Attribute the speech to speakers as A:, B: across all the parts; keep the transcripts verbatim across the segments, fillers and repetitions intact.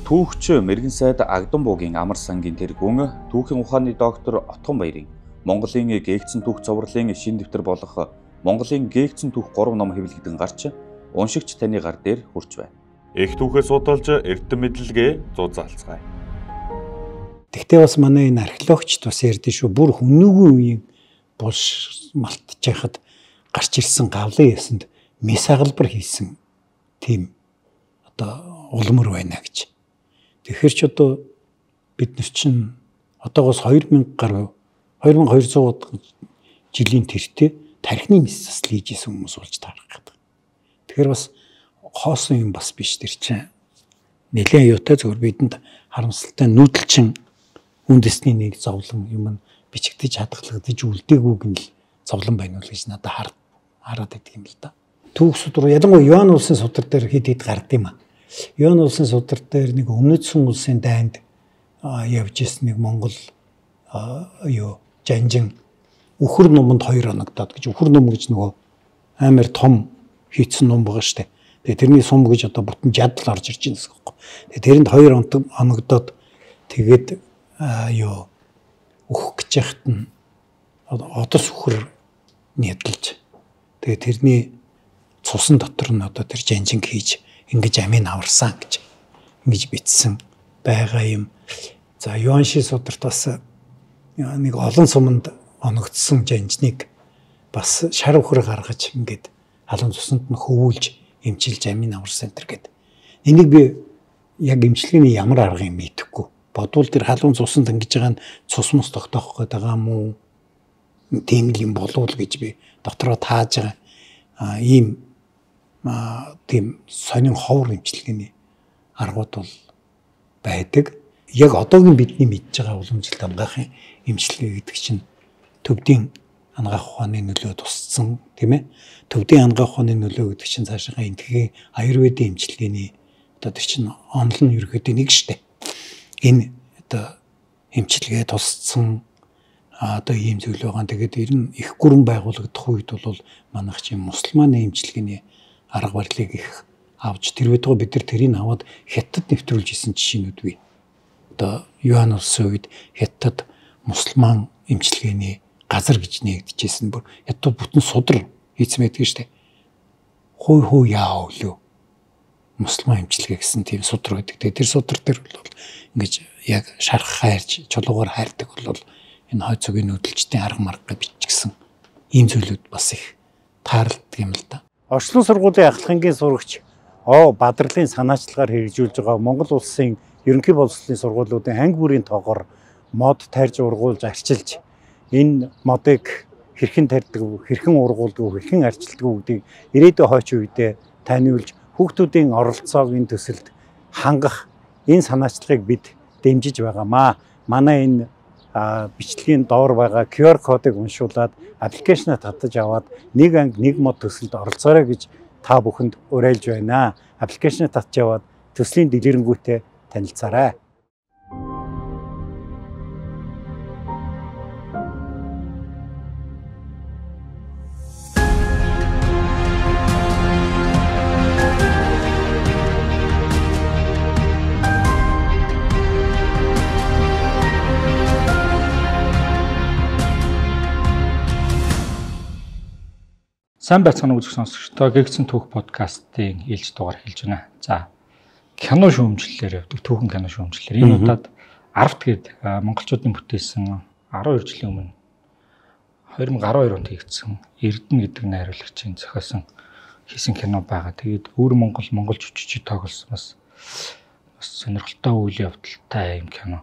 A: Түүхч Мэргэн сайд Агдам буугийн амар сангийн тэргүүн түүхийн ухааны доктор Отгон Баярын Монголын гээгцэн түүх цовруулын шин дэвтэр болох Монголын гээгцэн түүх гурав ном хэвлэгдэн гарч уншигч таны гар дээр хүрч байна. Их түүхээ судалж эрдэм мэдлэгээ зузаалцгаая.
B: Тэгтээ бас манай энэ археологчд бас ярьдэн шүү. Бүр хүнүүгийн үеийн булш малтж яхад гарч ирсэн гавлын ясанд мис агалбар хийсэн тийм одоо улмөр байна гэж. Тэгэхээр ч одоо бид нар чинь одоогоос хоёр мянга гаруй хоёр мянган хоёр зуун жилийн тэртээ тархины мис засал хийж исэн хүмүүс болж таарах гэдэг. Тэгэхээр бас хоосон юм бас биш тэр чинь. Нэлээд аюутай зөвөр бидэнд харамсалтай нүүдэлчин үндэсний нэг зовлон юм бичигдэж хадгалагдаж үлдээгүйг нь л зовлон байна уу гэж надад хараад байдаг юм л да. Түүх судар ялангуяа Йоан улсын судар дээр хэд хэд гард юм аа. Йоан улсын судар дээр нэг өмнөдсөн улсын дайнд явж ирсэн нэг Монгол юу жанжин үхэр номонд хоёр оногдоод гэж үхэр ном гэж нөгөө амар том хийцэн ном байгаа штэ. Тэгээ тэрний сум гэж одоо бүтэн жадал орж ирж байна гэсэн үг. Тэгээ тэрэнд хоёр оногдоод тэгээд юу өөх гэж яхад нь одос үхэр нэдэлж тэгээ тэрний цусан дотор нь одоо тэр жанжин хийж ингэж амийн аварсан гэж ингэж бичсэн байгаа юм. За Йоанши сударт бас нэг олон суманд оногдсон жанжныг бас шар үхэр гаргаж ингэж халуун цусанд нь хөвүүлж эмчилж амийн аварсан энэ гэдэг. Энийг би яг эмчилгээний ямар арга юм мэдэхгүй. Бодвол тэр халуун цусанд ингэж байгаа нь цус мус тогтоох гээд байгаа юм уу? Тийм л юм болов уу гэж би дотроо тааж байгаа. А ийм тийм сонин ховор эмчилгээний аргууд бол байдаг. Яг одоогийн бидний мэдж байгаа уламжлалт хамгаахын эмчилгээ гэдэг чинь төвдийн ангаах ухааны нөлөө тусцсан тийм ээ. Төвдийн ангаах ухааны нөлөө гэдэг чинь цаашаа энтхийн аюрведын эмчилгээний одоо тэр чинь онол нь ерөөхдөө нэг штэ. Энэ одоо эмчилгээ тусцсан одоо ийм зүйл байгаа. Тэгээд ер нь их гүрэн байгуулагдах үед бол манайх чинь мусульманы эмчилгээний арга барилыг их авч тэр байтугай бид нар тэрийг аваад хятад нэвтрүүлж исэн жишээнүүд бий. Одоо Йоан улсын үед хятад мусульман эмчилгээний газар гэж нэгдэжсэн бүр хятад бүтэн судар хийцэн байдаг штэ. Хой хой яа өлөө. Мусульман эмчилгээ гэсэн тийм судар байдаг. Тэр судар дээр бол ингэж яг шарх хайрч чулуугаар хайрдаг бол энэ хой цогийн нүүдэлчдийн арга марга бичсэн ийм зүйлүүд бас их тааралдаг юм л да. Орчлон сургуулийн ахлахангийн сурагч О Бадрлын санаачлагаар хэрэгжүүлж байгаа Монгол улсын ерөнхий боловсролын сургуулиудын анги бүрийн тоогоор мод тарьж ургуулж арчилж энэ модыг хэрхэн тарьдаг, хэрхэн ургуулдаг, хэрхэн арчилдаг гэдгийг ирээдүйн хойч үедээ таниулж хүүхдүүдийн оролцоог энэ төсөлд хангах энэ санаачлагыг бид дэмжиж байгаамаа. Манай энэ бичлэгийн доор байгаа ку ар кодыг уншуулад аппликейшнаа татаж аваад нэг анги нэг мод төсөлд оролцоорой гэж та бүхэнд уриалж байна. Аппликейшнаа татж аваад төслийн дэлгэрэнгүйтэй танилцаарай.
C: Сайн байцгаана уу үзэх сонсогчдоо гээгцэн түүх подкастын ээлж дугаар хэлж байна. За кино шүүмжлэлээр явдаг түүхэн кино шүүмжлэлээр энэ удаад Арвт гээд монголчуудын бүтээсэн арван хоёр жилийн өмнө хоёр мың арван хоёр онд хийгдсэн Эрдэнэ гэдэг найруулагчийн зохиосон хийсэн кино байгаа. Тэгээд өөр Монгол монгол жүжигчид тоглосон бас бас сонирхолтой үйл явдалтай юм кино.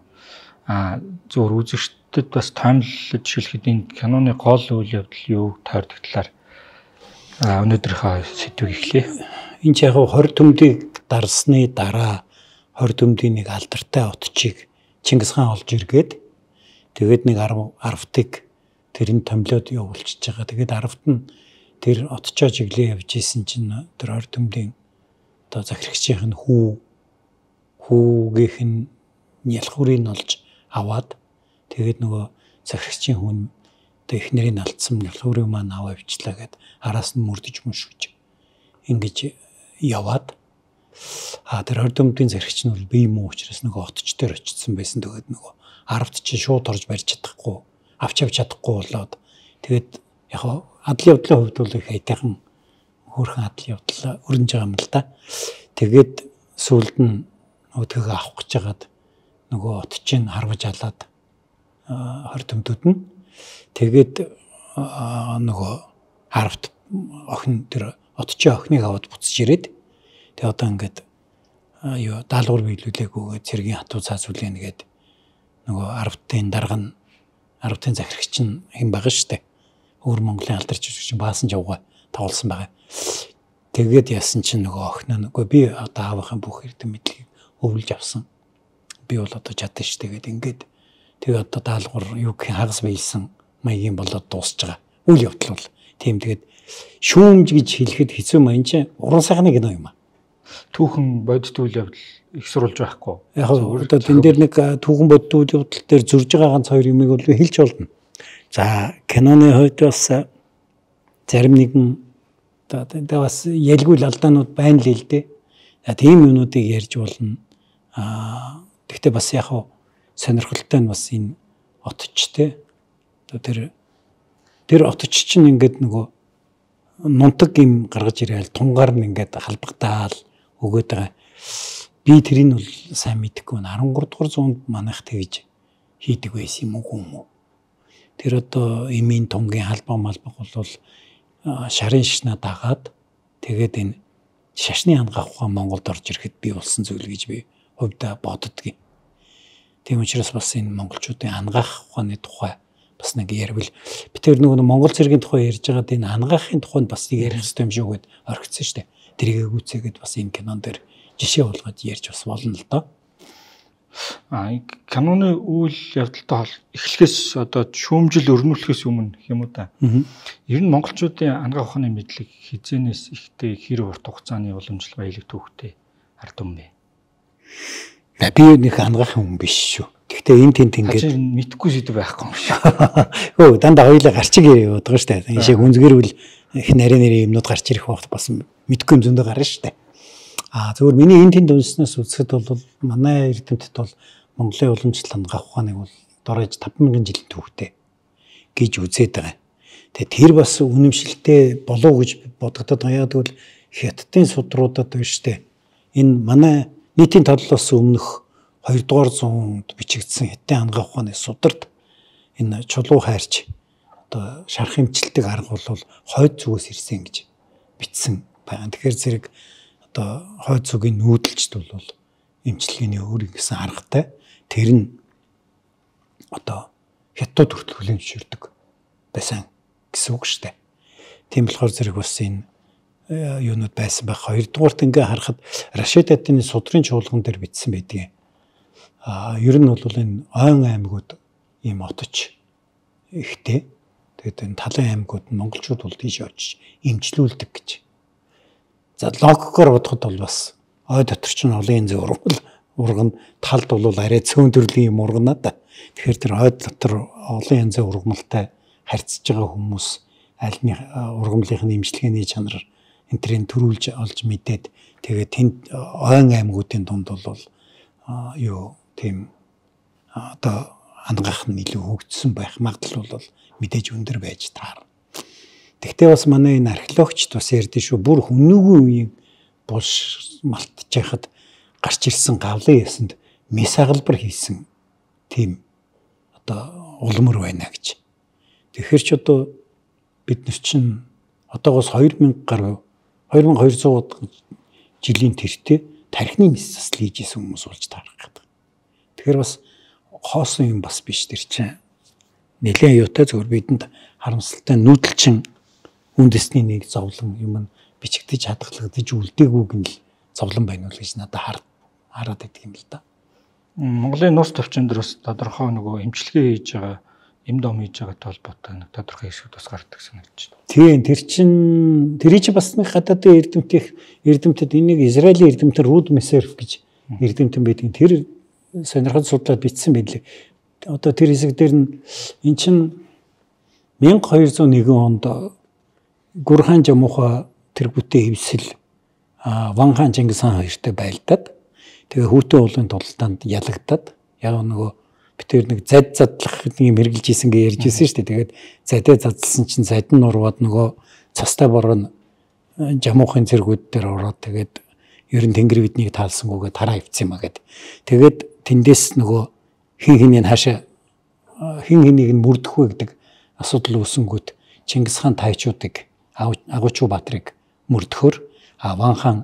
C: А зөвхөн үзэгчдэд бас тоомлож хэлэхэд энэ киноны гол үйл явдал юу тойрдог талаар өнөөдрийнхөө сэдвийг эхлэе.
B: Энэ ч яг хорь төмдийг дарсны дараа хорь төмдийн нэг алдартай отчийг Чингис хаан олж иргээд тэгээд нэг арвтыг тэрийг томлоод явуулчихж байгаа. Тэгээд арвт нь тэр отчоо чиглээ явж исэн чинь тэр хорь төмдийн одоо захирагчийн нь хүү хүүгийнх нь ялхуурыг олж аваад тэгээд нөгөө захирагчийн хүн одоо эхнэрийг алдсан ялхуурыг маань аваа авчлаа гэд араас нь мөрдөж мөшгөж ингэж яваад А тэр хорд өмдгийн зэрэгч нь бол бие муу учраас нөгөө отч дээр очсон байсан. Тэгээд нөгөө арвд чи шууд орж барьж чадахгүй, авч авч чадахгүй болоод тэгээд яг адлын явдлын хувьд бол их хайтайхан хөөрхөн адлын явдал өрнөж байгаа юм л да. Тэгээд сүүлд нь өдгөө авах гэж хагаад нөгөө отчийг харваж алаад хорд өмдөд нь тэгээд нөгөө арвд охин тэр отчийн охиныг аваад буцаж ирээд тэгээ одоо ингээд юу даалгавар биелүүлээгүйгээ цэргийн хатуу цаас үлээн гээд нөгөө арвдын дарга нь арвдын захирагч нь хэн байгаа штэ. Өөр Монголын алдарч жижиг баасан жавга тоглосон байгаа. Тэгээд яасан чинь нөгөө охин нь үгүй би одоо аавынхаа бүх эрдэм мэдлэгийг өвлж авсан. Би бол одоо чадсан штэ гээд ингээд тэгээ одоо даалгавар юу гэх хагас биелсэн маягийн болоод дуусж байгаа. Үйл явдал бол тийм тэгээд шүүмж гэж хэлэхэд хэцүү маяг чинь уран сайхны кино юм аа.
C: Түүхэн бодит үйл явдал их сурулж байхгүй.
B: Яг одоо энэ дээр нэг түүхэн бодит үйл явдал дээр зурж байгаа ганц хоёр юмыг бол хэлж болно. За киноны хувьд бас зарим нэгэн одоо бас ялгүй алдаанууд байна л л дээ. Тийм юмнуудыг ярьж болно. Аа гэхдээ бас яг сонирхолтой нь бас энэ отчтэй. Одоо тэр тэр отч чинь ингээд нөгөө нунтаг юм гаргаж ирээл тунгаар нь ингээд халбагдаал өгөөд байгаа. Би тэрийг бол сайн мэдэхгүй байна. арван гурав дугаар зуунд манайх тэгж хийдэг байсан юм уу юм уу? Тэр одоо эмийн тунгийн халбаг малбаг бол шарын шашнаа дагаад тэгээд энэ шашны ханга ухаан Монголд орж ирэхэд бий болсон зүйл гэж би хувьдаа боддгийн. Тийм учраас бас энэ монголчуудын ангаах ухааны тухай бас нэг ярил. Би тэр нөгөө Монгол цэргийн тухай ярьж байгаад энэ ангаахын тухайд бас нэг ярих хэрэгтэй юм шиг гээд орхисон шүү дээ. Тэрийг гүйцээгээд бас энэ кинон дээр жишээ болгоод ярьж бас болно л доо.
C: А киноны үйл явдалтай эхлэхээс одоо шүүмжил өрнүүлэхээс өмнө юм уу да. Ер нь монголчуудын ангаах ухааны мэдлэг хизээнээс ихтэй хэр урт хугацааны уламжлал баялаг түүхтэй хардсан бэ? Би
B: нэг ангаах хүн биш шүү. Гэхдээ энэ тент ингээд
C: мэдхгүй сэдв байхгүй юм шиг.
B: Өө дандаа хоёулаа гарчиг яваад байгаа шүү дээ. Ийшээ гүнзгэрвэл их нарийн нэрийн юмнууд гарч ирэх багт бас мэдхгүй юм зөндөө гарна шүү дээ. Аа зөвхөн миний энэ тент үнснээс үзэхэд бол манай эрдэмтэд бол Монголын уламжлал ангаах ухааныг бол дорож таван мянган жилийн түүхтэй гэж үзээд байгаа. Тэгээ тэр бас үнэмшилтэй болов гэж бодогдоод байгаа. Яг тэгвэл хятадын судруудад биш үү? Энэ манай нийтийн тодлоос өмнөх хоёрдугаар зуунд бичигдсэн хятадын ангаах ухааны сударт энэ чулуу хайрч одоо шарх хэмжилтийг арга бол хойд зүгээс ирсэн гэж бичсэн байна. Тэгэхээр зэрэг одоо хойд зүгийн нүүдэлчд бол эмчилгээний өөр гэсэн аргатай тэр нь одоо хятад хүртэл хүлээн зөвшөөрдөг байсан гэсэн үг шүү дээ. Тийм болохоор зэрэг бас энэ юунууд байсан байх. Хоёрдугаарт ингээ харахад Рашид Адны судрын чуулган дээр бичсэн байдгийг. А ер нь бол энэ ойн аймагуд ийм отч ихтэй. Тэгээд энэ талын аймагуд нь монголчууд бол тийш очиж эмчлүүлдэг гэж. За логикоор бодоход бол бас ой дотор ч нь олон янзын ургал урган талд бол арай цөөн төрлийн юм ургана да. Тэгэхээр тэр ой дотор олон янзын ургамалтай харьцаж байгаа хүмүүс альны ургамлынхны эмчилгээний чанар энтрийн төрүүлж олж мэдээд тэгээд тэнд ойн аймагуудын дунд бол юу тийм одоо ангаах нь илүү хөгжсөн байх магадлал бол мэдээж өндөр байж таар. Тэгтээ бас манай энэ археологчд бас ярьдээ шүү бүр хүнүүгүй үеийн булш малтж яхад гарч ирсэн гавлын ясанд мис агалбар хийсэн тийм одоо улмөр байна гэж. Тэгэхээр ч одоо бид нар чинь одоогоос хоёр мянга гаруй хоёр nghìn хоёр зуун жилийн тэртээ тархины мис засал хийж исэн хүмүүс болж таарах гэдэг. Тэгэхээр бас хоосон юм бас биш тэр чинь. Нэлээд юутай зөвөр бидэнд харамсалтай нүүдэлчин үндэсний нэг зовлон юм бичигдэж хадгалагдаж үлдээгүйг нь л зовлон байна уу гэж надад хараад байдаг юм л да.
C: Монголын нус төвчөн дээр бас тодорхой нөгөө эмчилгээ хийж байгаа эм дом хийж байгаатай холбоотой нэг тодорхой хэсгүүд бас гардаг санагдаж байна.
B: Тийм тэр чин тэрий чи бас нэг гадаадын эрдэмтэх эрдэмтэд энийг Израилийн эрдэмтэн Руд Месерф гэж эрдэмтэн байдаг. Тэр сонирхол судлаад бичсэн байлээ. Одоо тэр хэсэг дээр нь эн чин мянга хоёр зуун нэгэн онд Гүрхан Жамуха тэр бүтээ хевсэл Ван хаан Чингис хаан хоёртой байлдаад тэгээ Хүүтэн уулын тултанд ялагдаад яг нөгөө битээр нэг зад задлах юм хэрглэж ийсэн гэж ярьж ирсэн шүү дээ. Тэгээд задаа задлсан чинь зад нь урваад нөгөө цастай бороо жамуухын цэргүүд дээр ороод тэгээд ер нь тэнгэр биднийг таалсангүйгээ тараа ивцсэн юм а гэд. Тэгээд тэндээс нөгөө хин хинийн хаашаа хин хэнийг нь мөрдөх вэ гэдэг асуудал үүсэнгүүт Чингис хаан тайчуудыг Агуучуу Баатрыг мөрдөхөр Ван хаан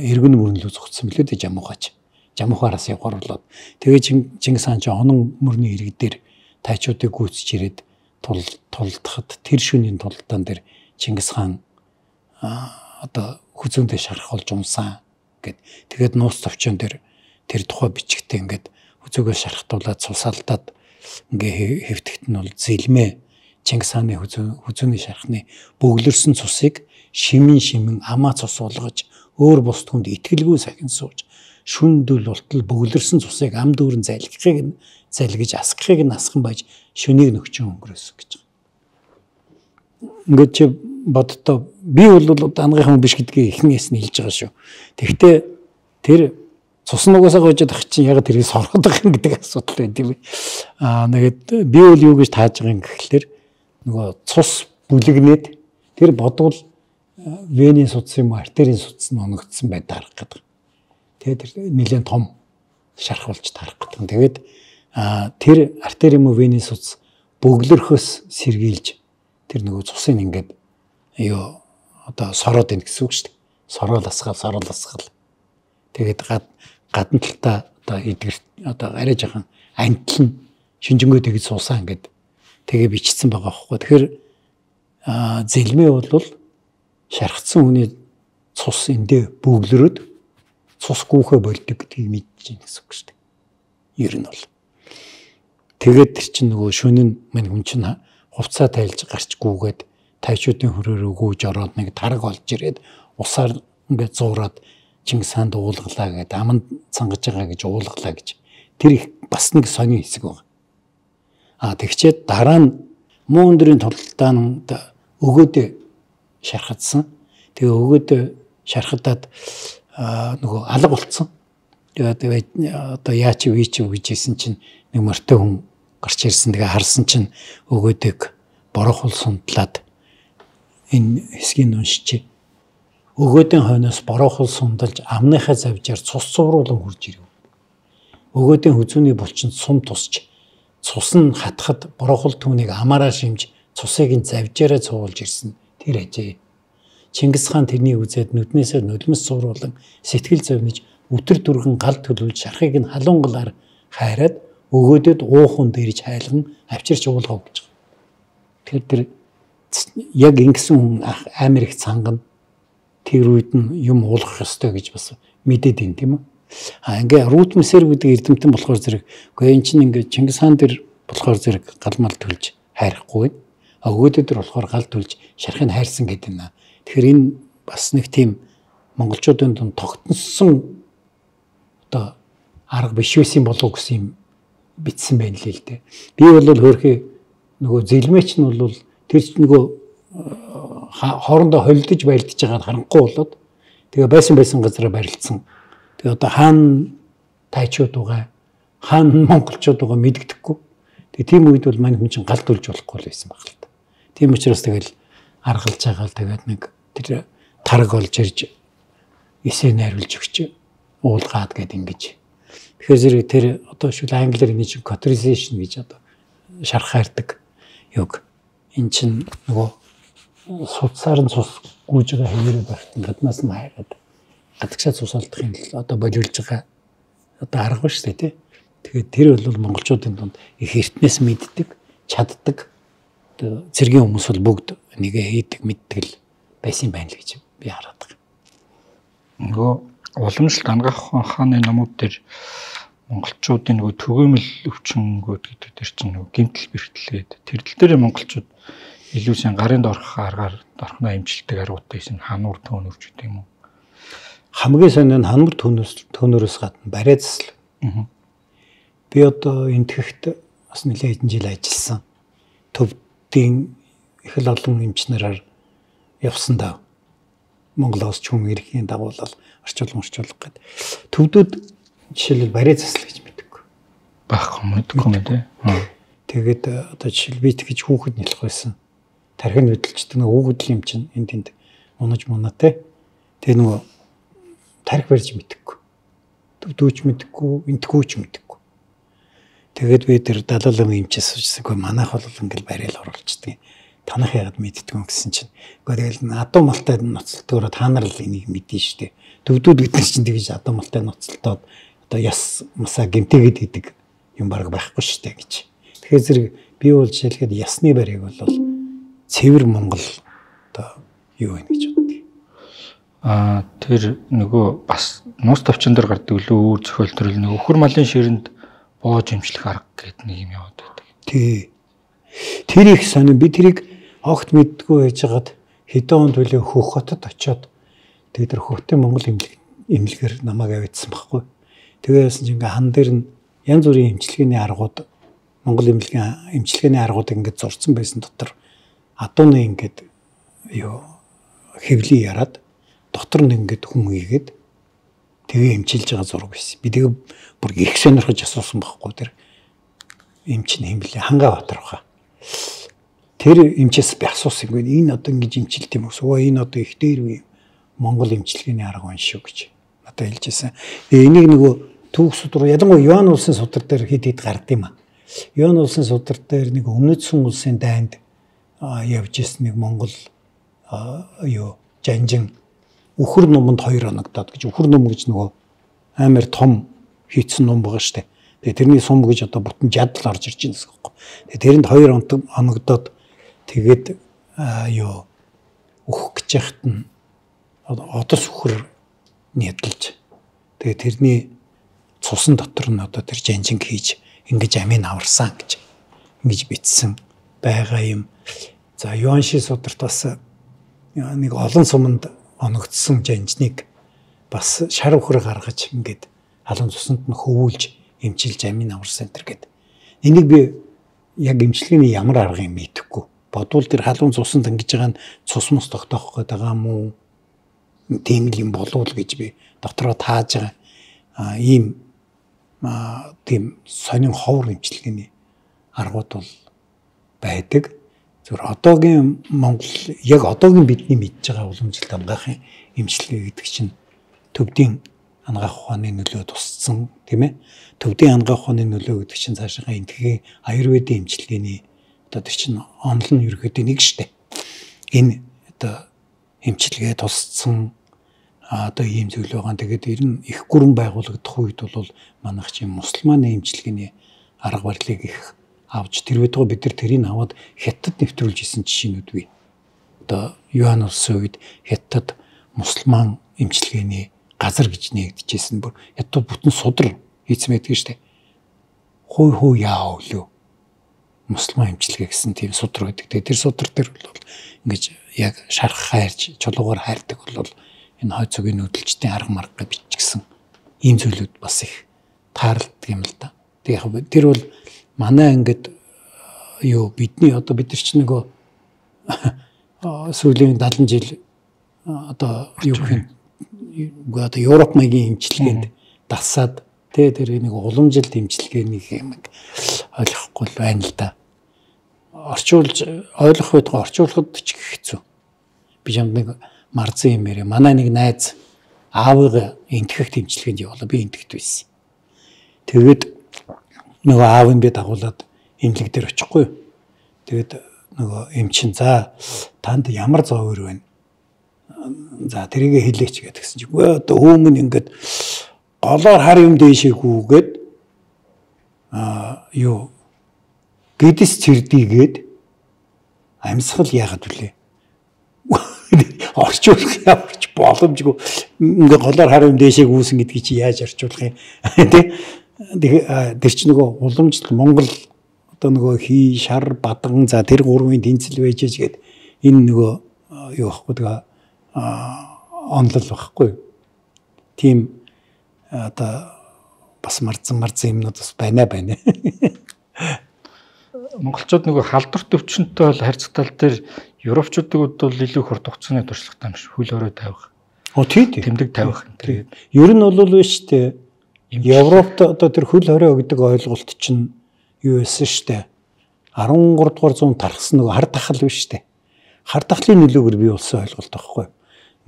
B: эргэн мөрнөлөө зогцсон билүү дээ жамуухаач. Жамуухаараас явгаруулаад тэгээ Чингис хаан ч онон мөрний ирэг дээр тайчуудыг гүйцэж ирээд тул тулдахад тэр шөнийн тулдаан дээр Чингис хаан одоо хүзүүндээ шарах болж умсан гэд. Тэгээд нууц товчон дээр тэр тухай бичгтээ ингээд хүзүүгөө шархтуулаад цусаалдаад ингээ хэвтгэт нь бол зэлмээ Чингис хааны хүзүүний шархны бөглөрсөн цусыг шимэн шимэн амаа цус болгож өөр бус түнд итгэлгүй сахин сууж шүндэл болтол бөглөрсөн цусыг ам дүүрэн залгихыг нь залгиж асгахыг нь асхан байж шөнийг нөхчөн өнгөрөөсөн гэж. Ингээд чи боддоо би бол ангийнхан биш гэдгийг эхнээс нь хэлж байгаа шүү. Тэгвэл тэр цус нугасаа гоожод ах чинь яг тэрийг соргоод байгаа юм гэдэг асуудал байд юм. Аа нэгэд би бол юу гэж тааж байгаа юм гэхэлэр нөгөө цус бүлэгнээд тэр бодвол венийн судас юм артерийн судас нь оногдсон байд харах гэдэг. Тэгээд тэр нэлээд том шарх болж тарах гэдэг. Тэгээд тэр артери юм уу венийн судас бөглөрхөөс сэргийлж тэр нөгөө цусыг ингээд юу одоо сороод ийн гэсэн үг шүү дээ. Сороол асгаал, сороол асгаал. Тэгээд гад гадна талдаа одоо эдгэр одоо арай жоохон антл нь шинжэнгөө тэгж суусаа ингээд тэгээ бичсэн байгаа байхгүй. Тэгэхээр зэлмээ бол шархсан хүний цус эндээ бөглөрөөд цус гүүхэ болдог гэдгийг мэдэж байна гэсэн үг шүү дээ. Ер нь бол. Тэгээд тэр чинь нөгөө шөнө нь мань хүн чинь хувцаа тайлж гарч гүүгээд тайчуудын хөрөөр өгөөж ороод нэг тараг олж ирээд усаар ингээд зуураад Чингис хаанд уулгалаа гэдэг аманд цангаж байгаа гэж уулгалаа гэж. Тэр их бас нэг сони хэсэг байна. А тэгчээд дараа нь муу өндрийн тулдаанд өгөөдөө шархадсан. Тэгээ өгөөдөө шархадаад нөгөө алга болцсон. Тэгээ одоо яач вэ чи гэж хэлсэн чинь нэг мортой хүн гарч ирсэн. Тэгээ харсан чинь өгөөдөг борохол сундлаад энэ хэсгийг уншиж өгөөдийн хойноос борохол сундалж амныхаа завжаар цус цувруулан хурж ирэв. Өгөөдийн хүзүүний булчинд сум тусч цус нь хатхад борохол түүнийг амаараа шимж цусыг нь завжаараа цуулж ирсэн тэр ажээ. Чингис хаан тэрнийг үзээд нүднээсээ нулимс цувруулан сэтгэл зовниж өтөр дүргэн гал төлөвлөж шархыг нь халуунгалаар хайраад өгөөдөд уухан дээрж хайлган авчирч уулгав гэж. Тэр тэр яг ингэсэн хүн амар их цангана. Тэр үед нь юм уулгах ёстой гэж бас мэдээд ин тийм үү. А ингээ рутмсэр гэдэг эрдэмтэн болохоор зэрэг үгүй эн чинь ингээ Чингис хаан дээр болохоор зэрэг галмал төлж хайрахгүй байна. А өгөөдөө дээр болохоор гал төлж шархыг хайрсан гэдэг юм. Тэгэхээр энэ бас нэг тийм монголчуудын дунд тогтносон одоо арга биш байсан болов гэсэн юм бичсэн байна л л дээ. Би бол хөөрхий нөгөө зэлмээч нь бол тэр нөгөө хоорондоо холдож байлдаж байгаад харахгүй болоод тэгээ байсан байсан газараа барилдсан. Тэгээ одоо хаан тайчууд байгаа, хаан монголчууд байгаа мэддэхгүй. Тэгээ тийм үед бол мань хүн чинь галт үлж болохгүй байсан баг л та. Тийм учраас тэгэл аргалж байгаа л тэгээд нэг тэр тараг олж ирж эсээ найруулж өгч уулгаад гээд ингэж. Тэгэхээр зэрэг тэр одоо шүл англиар энэ чинь cauterization гэж одоо шарх хайрдаг юг. Эн чинь нөгөө судсаар нь цус гүйж байгаа хэвээрээ багтан гаднаас нь хайгаад гадагшаа цус алдахын одоо болиулж байгаа одоо арга ба шүү дээ тий. Тэгээд тэр бол монголчуудын дунд их эртнээс мэддэг, чаддаг одоо цэргийн хүмүүс бол бүгд нэгэ хийдэг, мэддэг л байсан байна л гэж би хараад байгаа.
C: Нөгөө уламжлалт ангаах хааны номууд дээр монголчуудын нөгөө төгөөмөл өвчнгүүд гэдэг дээр чинь нөгөө гэмтэл бэрхтлээд тэрдэл дээр монголчууд илүү сайн гарын дорх аргаар дорхноо имжилдэг аргуудтай юм хануур төөнөрч гэдэг юм уу?
B: Хамгийн сайн нь хануур төөнөөс төөнөрөөс гадна барай засал. Би одоо энтгэхт бас нэлээд хэдэн жил ажилласан. Төвдийн их л олон эмчнэрээр явсан даа. Монголоос ч хүн ирэхийн дагуулал орчуулга орчуулга гэдэг. Төвдүүд жишээлбэл барай засал гэж мэддэг.
C: Байхгүй мэдгүй юм тий.
B: Тэгээд одоо жишээл би тэгж хүүхэд нялх байсан. Тархин хөдөлчдөг нэг хүүхдэл юм чинь энд тэнд унаж мунатай. Тэгээ нөгөө тархи барьж мэдхгүй. Төвдөөч мэдхгүй, энтгүүч мэдхгүй. Тэгээд би тэр далаалын эмчээс суучихсан. Манайх бол ингээл барайл оруулцдаг. Танах яагаад мэддэг юм гэсэн чинь. Гэхдээ тэгэл адуу малтай ноцолтгоор та нар л энийг мэдэн штэ. Төвдүүд бид нар чинь тэгж адуу малтай ноцолтоод одоо яс масаа гэмтээгээд идэг юм баг байхгүй штэ гэж. Тэгэхээр зэрэг би бол жишээлхэд ясны барийг бол цэвэр Монгол одоо юу вэ гэж боддог.
C: Аа тэр нөгөө бас нуус тавчин дээр гардаг лөө өөр зохиол төрөл нөгөө өхөр малын ширэнд боож имжлэх арга гэдэг нэг юм яваад байдаг.
B: Тий. Тэр их сонин би тэрийг огт мэддгүй байжгаад хэдэн он төлөө Хөх хотод очиод тэгээд тэр Хөхтийн Монгол имлэг имлэгээр намайг авчихсан байхгүй. Тэгээ яасан чинь ингээ хан дээр нь янз бүрийн имчилгээний аргууд Монгол имлэгийн имчилгээний аргуудыг ингээ зурцсан байсан дотор адууны ингээд юу хэвлий яраад дотор нь ингээд хүн ийгээд тэгээ имчилж байгаа зураг байсан. Би тэгээ бүр их сонирхож асуусан байхгүй тэр эмч нь хэмлээ Хангаа Батар баха. Тэр эмчээс би асуусан юм. Энэ одоо ингэж имчилт юм уу? Суу энэ одоо их дээр үе Монгол имчилгээний арга байна шүү гэж надад хэлжсэн. Тэгээ энийг нөгөө түүх судар ялангуяа Юан улсын судар дээр хэд хэд гард юм аа. Юан улсын судар дээр нэг өмнөдсөн улсын дайнд явж ирсэн нэг Монгол юу жанжин өхөр номонд хоёр оногдоод гэж өхөр ном гэж нөгөө амар том хийцэн ном байгаа штэ. Тэгээ тэрний сум гэж одоо бүтэн жадал орж ирж байна гэсэн үг. Тэгээ тэрэнд хоёр оногдоод тэгээд юу өөх гэж яхад нь одос өхөр нэдэлж тэгээ тэрний цусан дотор нь одоо тэр жанжин хийж ингэж амийн аварсан гэж ингэж бичсэн байгаа юм. За Юанши сударт бас нэг олон суманд оногдсон жанжныг бас шар өхөр гаргаж ингээд халуун цусанд нь хөвүүлж эмчилж амийн аварсан энэ гэдэг. Энийг би яг эмчилгээний ямар арга юм мэдэхгүй. Бодвол тэр халуун цусанд ингэж байгаа нь цус мус тогтоох гээд байгаа юм уу? Тийм л юм болов уу гэж би дотроо тааж байгаа. А ийм тийм сонин ховор эмчилгээний аргууд бол байдаг. Зөвхөн одоогийн Монгол яг одоогийн бидний мэдж байгаа уламжлалт хамгаахын эмчилгээ гэдэг чинь төвдийн ангаах ухааны нөлөө тусцсан тийм ээ. Төвдийн ангаах ухааны нөлөө гэдэг чинь цаашаа энтхийн аюрведын эмчилгээний одоо тэр чинь онол нь ерөөхдөө нэг штэ. Энэ одоо эмчилгээ тусцсан одоо ийм зүйл байгаа. Тэгээд ер нь их гүрэн байгуулагдах үед бол манайх чинь мусульманы эмчилгээний арга барилыг их авч тэр үедээ бид нар тэрийг аваад Хятад нэвтрүүлж исэн жишээнүүд бий. Одоо Юан улсын үед Хятад мусульман эмчилгээний газар гэж нээгдэжсэн бүр Хятад бүтэн судар хийцэн байдаг штэ. Хой хой яа өлөө. Мусульман эмчилгээ гэсэн тийм судар байдаг. Тэр судар дээр бол ингэж яг шарх хайрч чулуугаар хайрдаг бол энэ хой цогийн нүүдэлчдийн арга марга биччихсэн ийм зүйлүүд бас их тааралдаг юм л да. Тэг яг тэр бол манай ингээд юу бидний одоо бид нар ч нөгөө сүүлийн дадлан жил одоо юу гэх юм одоо Европ маягийн эмчилгээнд дасаад тэ тэр нэг уламжилт эмчилгээний юм ойлгохгүй байна л да. Орчуулж ойлгох байдгаа орчуулахад ч хэцүү. Би юм нэг марзан юм ярэ. Манай нэг найз аавыг энтгэх эмчилгээнд явуулаа. Би энтгэд байсан. Тэгээд нөгөө аав юм бэ дагуулад эмнэлэг дээр очихгүй. Тэгээд нөгөө эмчин за танд ямар зовөр байна? За тэрийг хэлээч гэдгсэн чинь үгүй одоо хүмүүс ингээд голоор хар юм дээшээгүйгээд аа юу гэдэс цэрдийгээд амьсгал яагаад вүлээ? Орчуулах ямарч боломжгүй ингээ голоор хар юм дээшээг үүсэн гэдгийг чи яаж орчуулах юм тий? Тэр чинь нөгөө уламжлалт Монгол одоо нөгөө хий шар бадган за тэр гурвын тэнцэл байж гээд энэ нөгөө юу байхгүй тэгээ онлол байхгүй. Тийм одоо бас марцсан марцсан юмнууд бас байна байна.
C: монголчууд нөгөө халдварт өвчнөдтэй бол харьцтал дээр европчуудад бол илүү хурд хугацааны туршлагатай юм шиг хөл өрөө тавих.
B: Оо тий тий.
C: Тэмдэг тавих энэ төр.
B: Ер нь бол биш дээ. Европт одоо тэр хөл хорой гэдэг ойлголт чинь юу байсан штэ. арван гурав дугаар зуунд тархсан нөгөө хар тахал биш штэ. Хар тахлын нөлөөгөр бий болсон ойлголт байхгүй.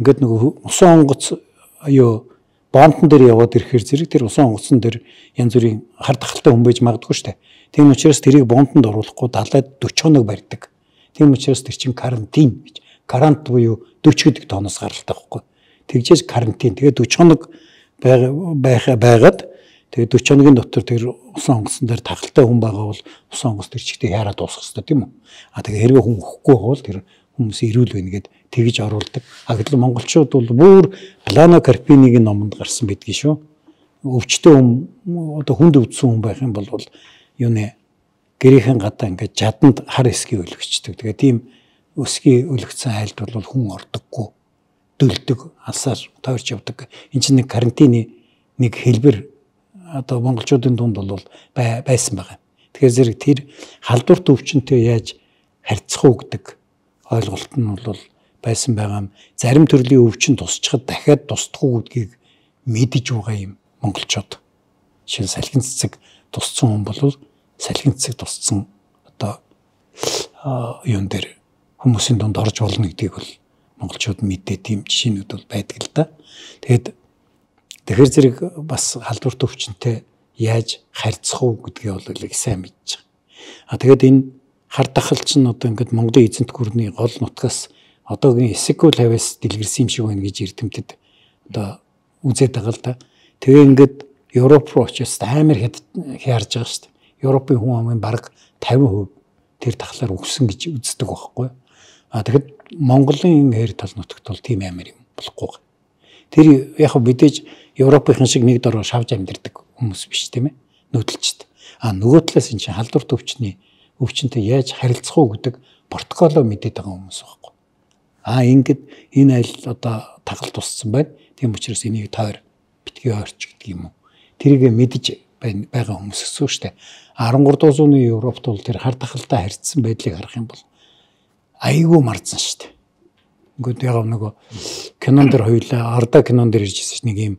B: Ингээд нөгөө усан онгоц юу бонтон дээр яваад ирэхээр зэрэг тэр усан онгоцон дээр янз бүрийн хар тахалтай хүн байж магадгүй штэ. Тийм учраас тэрийг бонтонд оруулахгүй далайд дөрвөн хоног барьдаг. Тийм учраас тэр чинь карантин гэж. Карант буюу дөрвөн гэдэг тооноос гаралтай байхгүй. Тэгжээж карантин. Тэгээд дөрвөн хоног байх байгаад тэгээд дөрвөн хоногийн дотор тэр усан онгоцсон дээр тахалтай хүн байгаа бол усан онгоц тэр чигтээ яарад дуусах хэрэгтэй тийм үү? А тэгээд хэрвээ хүн өөхгүй бол тэр хүмүүс ирүүл байна гэд тэгж оруулдаг. А гэтэл монголчууд бол бүр Плано Карпинигийн номонд гарсан байдгийг шүү. Өвчтөө хүн одоо хүнд өвдсөн хүн байх юм бол юу нэ гэрийнхэн гадаа ингээд жаданд хар эсгийг өлгөчдөг. Тэгээд тийм өсгийн өлгцэн айлд бол хүн ордоггүй, дөлдөг, алсаар тойрч явдаг. Энд чинь нэг карантины нэг хэлбэр одоо монголчуудын дунд бол байсан байгаа. Тэгэхээр зэрэг тэр халдварт өвчнөд яаж харьцах уу гэдэг ойлголт нь бол байсан байгаа юм. Зарим төрлийн өвчин тусчхад дахиад тусдах уу гэдгийг мэдэж байгаа юм монголчууд. Жишээ нь салхин цэцэг тусцсан хүн бол салхин цэцэг тусцсан одоо юун дээр хүмүүсийн дунд орж болно гэдгийг бол монголчууд мэдээ тийм жишээнүүд бол байдаг л да. Тэгээд тэгэхээр зэрэг бас халдварт өвчнөд яаж харьцах уу гэдгийг бол их сайн мэдж байгаа. А тэгээд энэ хар тахал чинь одоо ингээд Монголын эзэнт гүрний гол нутгаас одоогийн Эсекул хавьяас дэлгэрсэн юм шиг байна гэж эрдэмтэд одоо үзээд байгаа л да. Тэгээ ингээд Европ руу очиж амар хэд хязж байгаа шүү дээ. Европын хүн амын бараг тавин хувь тэр тахлаар өгсөн гэж үздэг байхгүй. А тэгэхэд Монголын хэр тал нутагт бол тийм амар юм болохгүй. Тэр яг мэдээж Европын шиг нэг дөрөв шавж амьдэрдэг хүмүүс биш тийм ээ. Нүүдэлчд. А нөгөө талаас энэ чинь халдварт өвчний өвчнөд яаж харилцах уу гэдэг протоколоо мэдээд байгаа хүмүүс байхгүй. А ингээд энэ айл одоо тагал туссан байна. Тийм учраас энийг тойр битгий ойрч гэдэг юм уу. Тэрийг мэдэж байгаа хүмүүс өссөн шүү дээ. арван гурав дугаар зууны Европт бол тэр хар тахалтай харьцсан байдлыг харах юм бол айгүй марзан шүү дээ. Ингээд яг нөгөө кинон дэр хоёлаа Арда кинон дэр иржсэн нэг юм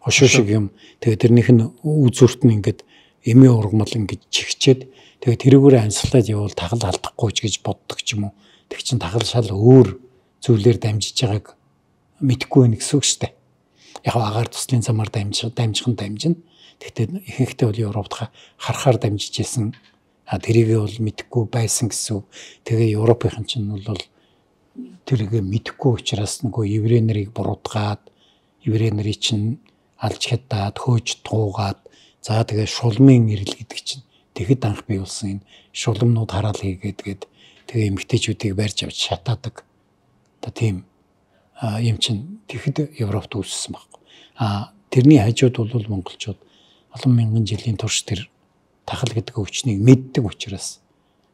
B: хошуу шиг юм. Тэгээ тэрнийх нь үзүүрт нь ингээд эмээ ургамал ингээд чихчээд тэгээ тэрүүгээр амьсгалаад явбал тагал алдахгүй ч гэж боддог ч юм уу. Тэг чин тагал шал өөр зүйлээр дамжиж байгааг мэдэхгүй байх гэсэн үг шүү дээ. Яг агаар туслын замаар дамжих дамжих нь дамжина. Тэгтээ ихэнхдээ бол Европт харахаар дамжиж ирсэн. А тэрийг бол мэдэхгүй байсан гэсэн үг. Тэгээ Европын чинь бол тэрийг мэдэхгүй учраас нөгөө еврей нарыг буруутгаад еврей нарыг чинь алж хятаад хөөж туугаад за тэгээ шулмын ирэл гэдэг чинь тэгэхэд анх бий болсон энэ шулмнууд хараал хийгээд тэгээд тэгээ эмгтээчүүдийг барьж авч шатаадаг. Одоо тийм юм чинь тэгэхэд Европт үүссэн байхгүй. А тэрний хажууд бол монголчууд олон мянган жилийн турш тэр тахал гэдэг өвчнийг мэддэг учраас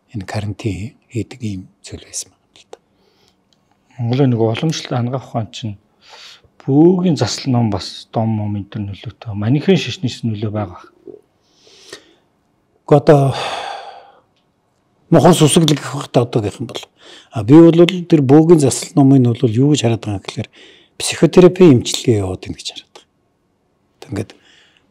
B: энэ карантин хийдэг юм зүйл байсан байна л да.
C: Монголын нэг уламжлалт хангах ухаан чинь бөөгийн засал ном бас дом мом энэ төр нөлөөтэй. Манийхэн шишнээс нөлөө байгаа.
B: Одоо мохон сүсэглэг гэх багтаа одоо гэх юм бол а би бол тэр бөөгийн засал номын бол юу гэж хараад байгаа гэхээр психотерапи эмчилгээ яваад байна гэж хараад байгаа. Ингээд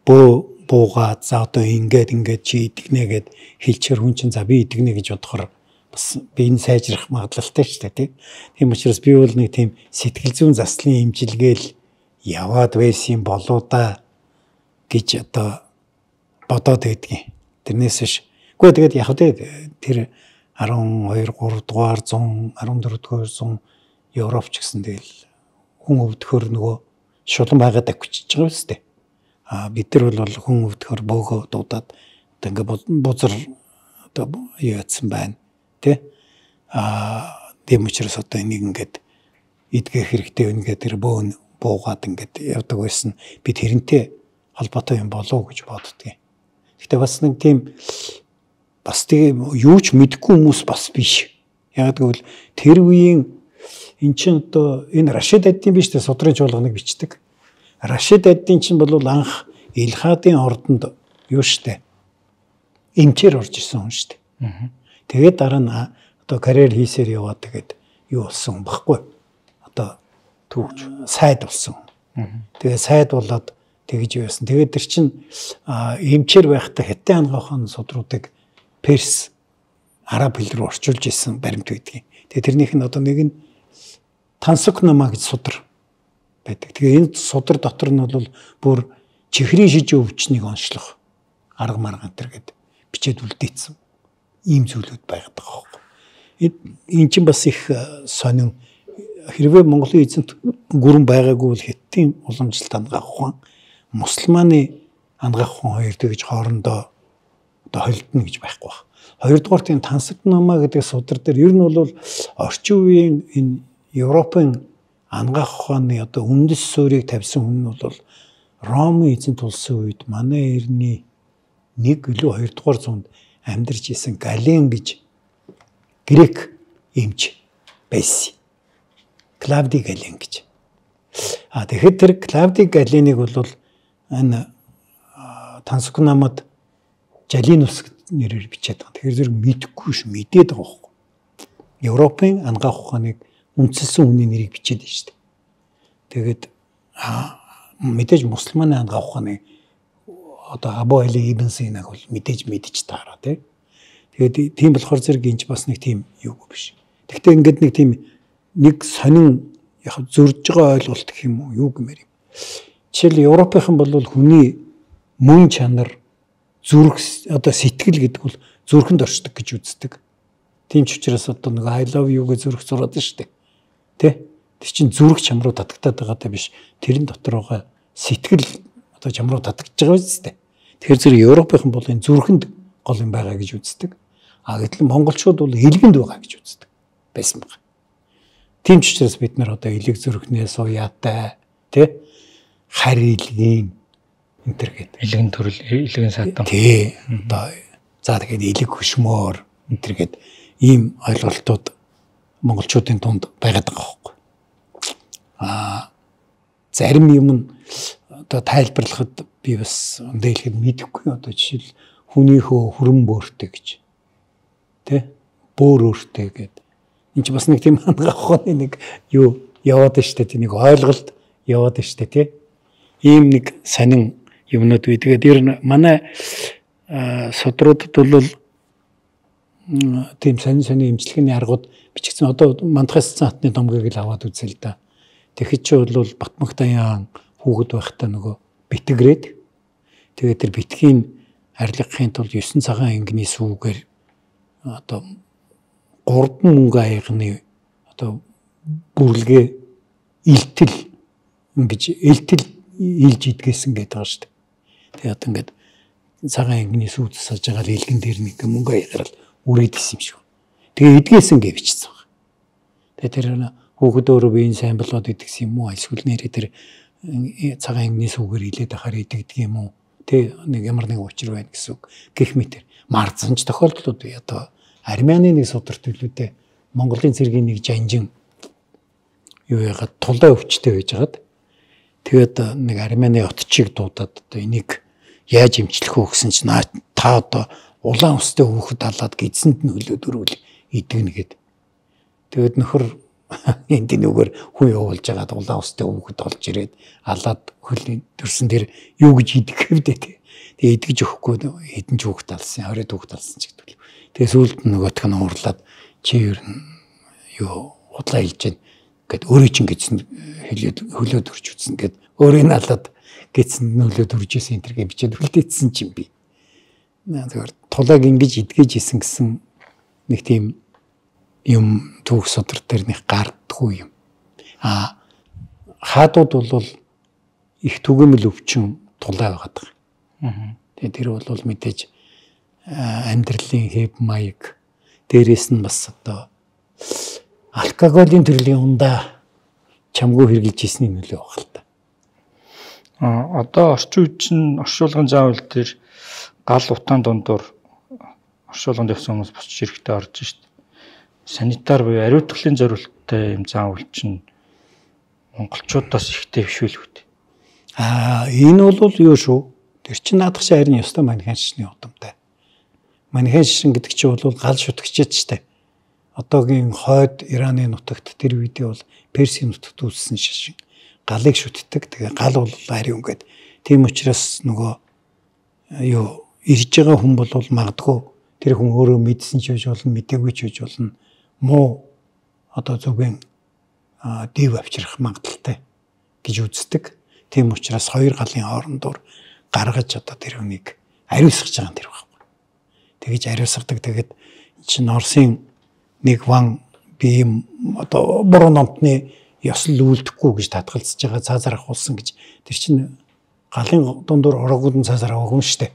B: бөө буугаад за одоо ингээд ингээд чи идэгнэ гэд хэлчихэр хүн чинь за би идэгнэ гэж бодохоор бас би энэ сайжрах магадлалтай шүү дээ тийм. Тийм учраас би бол нэг тийм сэтгэл зүйн заслын эмчилгээл яваад байсан болоо да гэж одоо бодоод байдгийн. Тэрнээс биш. Гэхдээ тэгээд яг тэр арван хоёр гурав дугаар зуун арван дөрөв дугаар зуун Европч гэсэн тэгэл хүн өвдөхөр нөгөө шулан байгаад авчиж байгаа юм тест. А бид нар бол хүн өвдөхөр бөөгөө дуудаад одоо ингээ бузар одоо яатсан байна тий. А тийм учраас одоо энийг ингээд идгэх хэрэгтэй үнгээд тэр бөөн буугаад ингээд явдаг байсан. Би тэрнтэй холбоотой юм болов уу гэж боддгийн. Гэхдээ бас нэг тийм бас тийм юу ч мэдэхгүй хүмүүс бас биш. Яг гэвэл тэр үеийн эн чинь одоо энэ Рашид Аддин биш тэ судрын чуулганыг бичдэг. Рашид Аддин чинь бол анх Илхадын ордонд юу штэ эмчээр орж ирсэн хүн штэ. Тэгээд дараа нь одоо карьер хийсээр яваад тэгээд юу болсон баггүй. Одоо
C: төвч
B: сайд болсон. Тэгээд сайд болоод тэгж байсан. Тэгээд тэр чин эмчээр байхдаа Хятад ангахын судруудыг перс араб хэл рүү орчуулж исэн баримт байдгийг. Тэгээд тэрнийх нь одоо нэг нь Тансукнама гэж судар байдаг. Тэгээ энэ судар дотор нь бол бүр чихрийн шижийн өвчнийг онцлох арга марга энэ гэд бичээд үлдээсэн. Ийм зүйлүүд байгаад байгаа байхгүй. Энэ чинь бас их сонин хэрвээ Монголын эзэнт гүрэн байгаагүй бол Хятадын уламжлалт ангаах ухаан, мусульманы ангаах ухаан хоёр тэгж хоорондоо одоо холилдно гэж байхгүй байна. Хоёрдугаар тийм Тансукнама гэдэг судар дээр ер нь бол орчин үеийн энэ Европын ангаах ухааны одоо үндэс суурийг тавьсан хүн нь бол Ромын эзэнт улсын үед манай эртний нэг илүү хоёрдугаар зуунд амьдарч исэн Гален гэж грек эмч байсан. Клавди Гален гэж. А тэгэхэд тэр Клавди Галеныг бол энэ Тансукнамад Жалинус нэрээр бичээд байгаа. Тэгэхээр зэрэг мэдэхгүй ш мэдээд байгаа байхгүй. Европын ангаах ухааныг үндэслэн хүний нэрийг бичээд байна шүү дээ. Тэгээд мэдээж мусульманы ангаах ухааны одоо Абу Али Ибн Синаг бол мэдээж мэдэж таараа тий. Тэгээд тийм болохоор зэрэг энэч бас нэг тийм юугүй биш. Гэхдээ ингээд нэг тийм нэг сонин яг зөрж байгаа ойлголт гэх юм уу юу гэмээр юм. Жишээл Европынхан бол хүний мөн чанар зүрх одоо сэтгэл гэдэг бол зүрхэнд оршдог гэж үздэг. Тийм ч учраас одоо нэг I love you гэж зүрх зураад шүү дээ. Тэ? Тэр чинь зүрх чам руу татагтаад байгаатай биш. Тэрэн дотор байгаа сэтгэл одоо чам руу татагдж байгаа биз дээ. Тэгэхээр зэрэг Европынхан бол энэ зүрхэнд гол юм байгаа гэж үздэг. А гэтэл монголчууд бол илгэнд байгаа гэж үздэг. Байсан байна. Тийм ч учраас бид нар одоо илэг зүрхнээс уяатай тий харь илгийн энэ төр гэдэг.
C: Илгэн төрөл илгэн садан.
B: Тий. Одоо за тэгээд илэг хөшмөр энэ төр гэдэг ийм ойлголтууд монголчуудын дунд байгаад байгаа байхгүй. Аа зарим юм нь одоо тайлбарлахад би бас дэйлэхэд мэдэхгүй одоо жишээл хүнийхөө хүрэн бөөртэй гэж тэ бөөр өөртэй гэдэг энэ ч бас нэг тийм ангаах ухааны нэг юу яваад штэ тийм нэг ойлголт яваад штэ тий ийм нэг сонин юмнууд бий. Тэгээд ер нь манай судруудад бол тийм сонин сонин эмчилгээний аргууд бичигдсэн. Одоо Мандахас цаатны домгийг л аваад үзээ л да. Тэгэхэд ч бол Батмагтаян хүүхэд байхдаа нөгөө битгэрээд тэгээд тэр битгийн арилгахын тулд есөн цагаан ангины сүүгээр одоо гурван мөнгө аягны одоо бүрлэгээ илтэл ингэж илтэл илж идгээсэн гэдэг байгаа шүү дээ. Тэгээд одоо ингээд цагаан ангины сүү засаж байгаа илгэн дээр нэг мөнгө аягаар л үрээд исэн юм шиг. Тэгээ идгээсэн гэж бичсэн байна. Тэгээ тэр хүүхэд өөрөө биеийн сайн болоод идэгсэн юм уу? Эсвэл нэрээ тэр цагаан ангины сүүгээр илээд ахаар идэгдэг юм уу? Тэ нэг ямар нэг учир байна гэсэн үг. Гэх мэтэр марцсан ч тохиолдлууд одоо Армяны нэг судар төлөвлөдөө Монголын цэргийн нэг жанжин юу яагаад тулдаа өвчтэй байжгаад тэгээд нэг Армяны отчийг дуудаад одоо энийг яаж эмчлэх вэ гэсэн чинь та одоо улаан устай хүүхэд алаад гидсэнд нь хөлөөд өрвөл идэгнэ гэд. Тэгээд нөхөр энд нүгээр хүн явуулж байгаад улаан устай хүүхэд олж ирээд алаад хөлийн төрсөн тэр юу гэж идэх хэвдээ тий. Тэгээд идэж өгөхгүй хэдэн ч хүүхэд алсан, оройд хүүхэд алсан ч гэдэг. Тэгээд сүүлд нөгөөх нь уурлаад чи ер нь юу худлаа хэлж гэн гэд өөрөө чинь гидсэнд хөлөөд хөлөөд өрч үтсэн гэд өөрөө нь алаад гидсэнд нь хөлөөд өрж исэн энэ төргээ бичээд үлдээсэн чинь би. Зүгээр тулааг ингэж идгэж исэн гэсэн нэг тийм юм түүх судар дээр нэг гардгүй юм. А хаадууд бол их түгээмэл өвчин тулаа байгаад байгаа. Тэгээ тэр бол мэдээж амьдралын хэв маяг дээрээс нь бас одоо алкоголийн төрлийн ундаа чамгүй хэрглэж ирсний нөлөө баг л та.
C: А одоо орчин үед чинь оршуулгын заавал дээр гал утаан дундуур оршуулганд явсан хүмүүс босч ирэхдээ орж шít. Санитар буюу ариутгалын зорилттой юм заавал чинь монголчуудаас ихтэй биш үү үү?
B: Аа энэ бол юу шүү? Тэр чинь наадах чинь харин ёстой маниханчны удамтай. Манайхан шишин гэдэг чинь бол гал шүтгэжээд штэ. Одоогийн хойд Ираны нутагт тэр үедээ бол Персийн нутагт үүссэн шишин. Галыг шүтдэг. Тэгээ гал бол ари өнгөд. Тийм учраас нөгөө юу ирж байгаа хүн бол магадгүй тэр хүн өөрөө мэдсэн ч гэж болно, мэдээгүй ч гэж болно. Муу одоо зөвхөн дэв авчрах магадaltaй гэж үздэг. Тийм учраас хоёр галын хоорондоор гаргаж одоо тэр хүнийг ариусгаж байгаа юм тэр байхгүй. Тэгэж ариусгадаг. Тэгээд чинь Оросын нэг ван би одоо буруу номтны ёслол үлдэхгүй гэж татгалзаж байгаа цаазаар ахуулсан гэж тэр чинь галын дундуур ороогүй цаазаар аваагүй юм шүү дээ.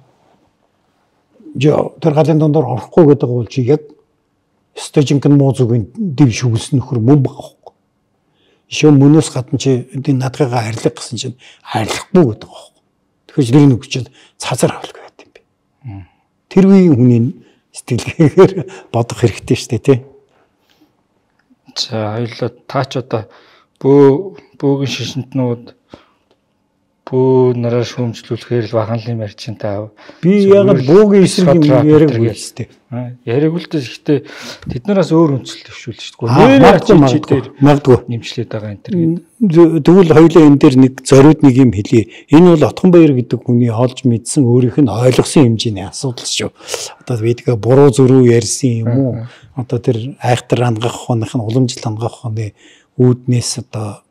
B: Жоо тэр галын дундуур орохгүй гэдэг бол чи яг стожинкэн муу зүгийн дэв шүглсэн нөхөр мөн багхгүй. Ишөө мөнөөс гадна чи энэ надгайгаа харилах гэсэн чинь харилахгүй гэдэг байхгүй. Тэгэхээр тэр нэг чинь цаазаар авалгүй байт юм би. Тэр үеийн хүний сэтгэлгээгээр бодох хэрэгтэй шүү дээ тий.
C: За хоёулаа таач одоо бөө бөөгийн шишинтнүүд бөө нараа шүүмжлүүлэхээр л ваханлын марчин таав.
B: Би яг бөөгийн эсрэг юм яриаггүй шүү дээ.
C: Яриаггүй л гэхдээ тэднээс өөр үндэслэл төвшүүлж шүү дээ.
B: Магадгүй магадгүй
C: нэмчлээд байгаа энэ төр гэдэг.
B: Тэгвэл хоёулаа энэ дээр нэг зориуд нэг юм хэлье. Энэ бол Отгонбаяр гэдэг хүний олж мэдсэн өөрийнх нь ойлгосон хэмжээний асуудал шүү. Одоо бидгээ буруу зөрүү ярьсан юм уу? Одоо тэр айхтар ангах хонх нь уламжлал ангах хоны үүднээс одоо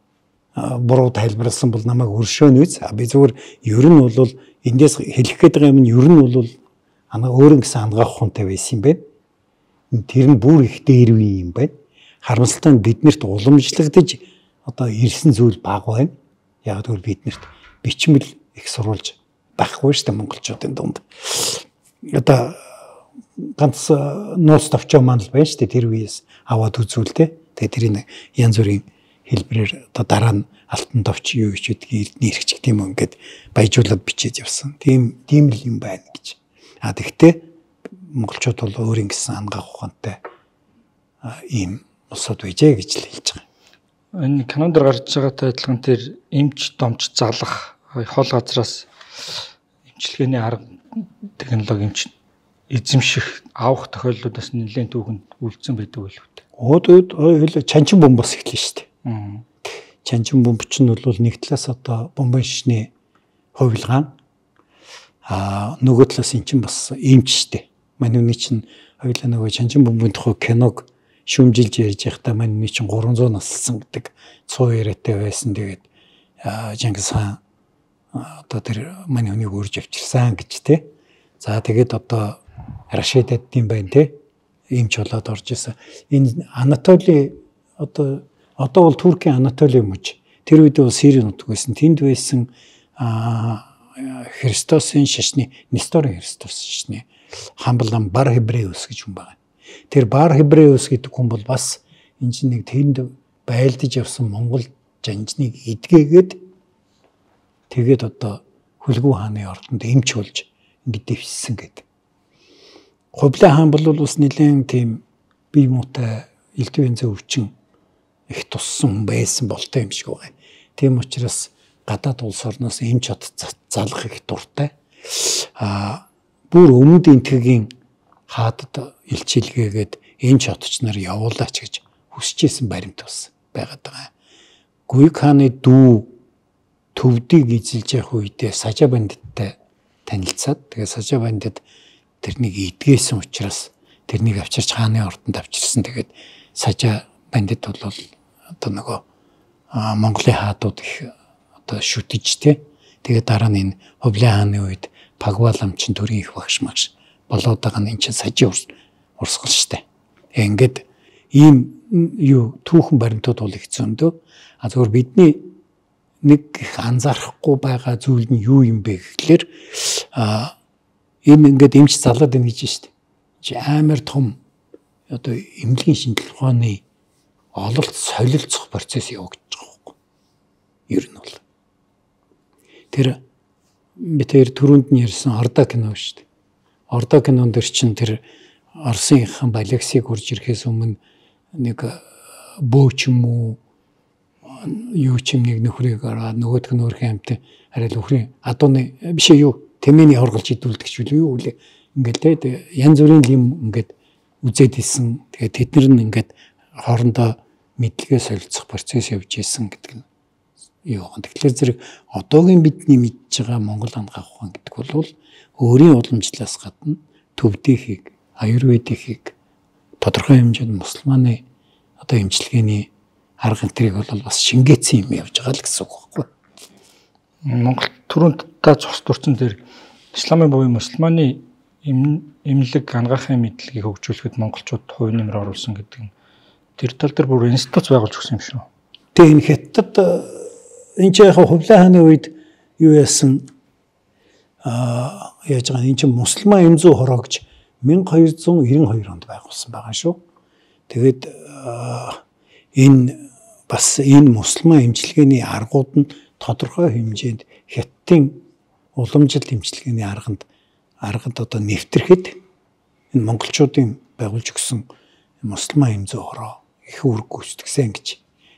B: буруу тайлбарласан бол намайг өршөөнө үз. Би зүгээр ер нь бол эндээс хэлэх гээд байгаа юм нь ер нь бол ана өөрөнгө гэсэн ангах хонтой байсан юм байна. Тэр нь бүр их дээр үе юм байна. Харамсалтай нь биднэрт уламжлагдаж одоо ирсэн зүйл бага байна. Яг тэгвэл биднэрт бичмэл их сурулж байхгүй шүү дээ монголчуудын дунд. Одоо ганц нууц товчоо маань л байна шүү дээ тэр үеэс аваад үзүүлтэй. Тэгээ тэрийг янз бүрийн хэлбэрээр одоо дараа нь алтан товч юу гэж үдгийг эрдний хэрэгч гэх юм ингээд баяжуулаад бичиж явсан. Тийм тийм л юм байна гэж. А тэгтээ монголчууд бол өөрийн гэсэн ангах ухаантай ийм усуд байжээ гэж л хэлж байгаа.
C: Энэ кинонд гарч байгаатай адилхан тэр эмч домч залах хол газраас эмчилгээний арга технологи эмч эзэмших авах тохиолдлуудаас нэлээд түүхэнд үлдсэн байдаг байлгүй.
B: Өөд өөд чанчин бомбос эхлэн шүү дээ. Чанчин бомб чинь бол нэг талаас одоо бомбын шишний хувилгаан а нөгөө талаас эн чинь бас эмч шүү дээ. Манай үний чинь хоёулаа нөгөө чанчин бомбын тухай киног шүүмжилж ярьж байхдаа манай үний чинь гурван зуун наслсан гэдэг цуу яриатай байсан. Тэгээд Чингис хаан одоо тэр манай хүнийг үрж авчирсан гэж те. За тэгээд одоо Рашидад юм байна те. Эмч болоод орж исэн. Энэ Анатоли одоо одоо бол Туркийн Анатоли мөч. Тэр үед бол Сирийн нутаг байсан. Тэнд байсан Христосын шашны Несторын Христос шашны хамблан Бар Хебреус гэж хүн байна. Тэр Бар Хебреус гэдэг хүн бол бас энэ чинь нэг тэнд байлдаж явсан Монгол жанжныг эдгээгээд тэгээд одоо Хүлгүү хааны ордонд эмч болж ингэ дэвшсэн гэдэг. Хувлаа хаан бол бас нэлээд тийм бие муутай элдвэнзээ өвчин их туссан байсан болтой юм шиг байна. Тийм учраас гадаад улс орноос эмч хот залах их дуртай. А бүр өмнөд энтгийн хаадад илчилгээгээд эмч хотч нар явуулаач гэж хүсчээсэн баримт бас байгаад байгаа. Гүйг хааны дүү төвдийг эзэлж явах үедээ Сажа бандиттай танилцаад тэгээ Сажа бандит тэрнийг эдгээсэн учраас тэрнийг авчирч хааны ордонд авчирсан. Тэгээд Сажа бандит бол одоо нөгөө Монголын хаадууд их одоо шүтэж те. Тэгээд дараа нь энэ Хувлын хааны үед Пагваламчин төрийн их багш магш болоод байгаа нь энэ чинь Сажийн урсгал штэ. Ингээд ийм юу түүхэн баримтууд бол их зөндөө. А зөвхөн бидний нэг их анзаарахгүй байгаа зүйл нь юу юм бэ гэхлээр а энэ ингээд эмч залаад байна гэж штэ. Чи амар том одоо эмнэлгийн шинжилгээ ухааны ололт солилцох процесс явагдаж байгаа байхгүй. Ер нь бол тэр би тэр түрүүнд нь ярьсан Орда кино шүү дээ. Орда кинон дэр чинь тэр Оросынхан Балексийг урж ирэхээс өмнө нэг бөөч юм уу юу ч юм нэг нөхрийг ороод нөгөөх нь өөрхийн амьтан арай л өхрийн адууны биш юу тэмээний хорголж идүүлдэг ч үгүй юу ингээд те янз бүрийн юм ингээд үзээд исэн. Тэгээд тэд нар нь ингээд хоорондоо мэдлэгээ солилцох процесс явж исэн гэдэг нь юу. Тэгэхээр зэрэг одоогийн бидний мэдж байгаа Монгол ангаах ухаан гэдэг бол өөрийн уламжлалаас гадна төвдийнхийг, аюрведихийг тодорхой хэмжээнд мусульманы одоо эмчилгээний арга энтрийг бол бас шингээсэн юм явж байгаа л гэсэн үг байхгүй.
C: Монгол түрүүнд та цус дурчин дээр исламын буюу мусульманы эмнэлэг ангаахын мэдлэгийг хөгжүүлэхэд монголчууд хувь нэмэр оруулсан гэдэг нь тэр тал дээр бүр институт байгуулж өгсөн юм шүү.
B: Тэгээ энэ хятад энэ ч яг хувлаа хааны үед юу яасан а яаж байгаа энэ чинь мусульман эм зүү хороо гэж мянга хоёр зуун девяносто хоёр онд байгуулсан байгаа шүү. Тэгээд энэ бас энэ мусульман эмчилгээний аргууд нь тодорхой хэмжээнд хятадын уламжлал эмчилгээний арганд аргад одоо нэвтрэхэд энэ монголчуудын байгуулж өгсөн мусульман эм зүү хороо их үүрэг гүйцэтгсэн гэж.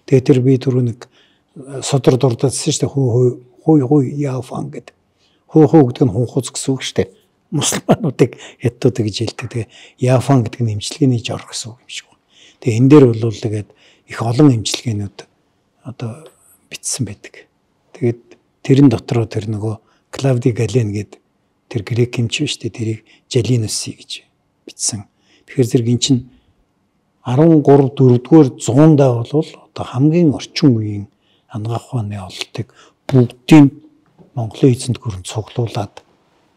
B: Тэгээд тэр би түрүү нэг содор дурдсан шүү дээ. Хуу хуу хуу яафан гэдэг. Хуу хуу гэдэг нь хунхуц гэсэн үг шүү дээ. Мусульмануудыг хятадууд гэж хэлдэг. Тэгээ яафан гэдэг нь эмчилгээний жор гэсэн үг юм шиг байна. Тэгээ энэ дээр бол тэгээд их олон эмчилгээнүүд одоо бичсэн байдаг. Тэгээд тэрэн дотроо тэр нөгөө Клавди Гален гэдэг тэр грек эмч биш үү? Тэрийг Жалинуси гэж бичсэн. Тэгэхээр зэрэг эн чинь арван гурав дөрөвдүгээр зуундаа бол одоо хамгийн орчин үеийн ангаах ухааны ололтыг бүгдийг Монголын эзэнт гүрэнд цуглуулад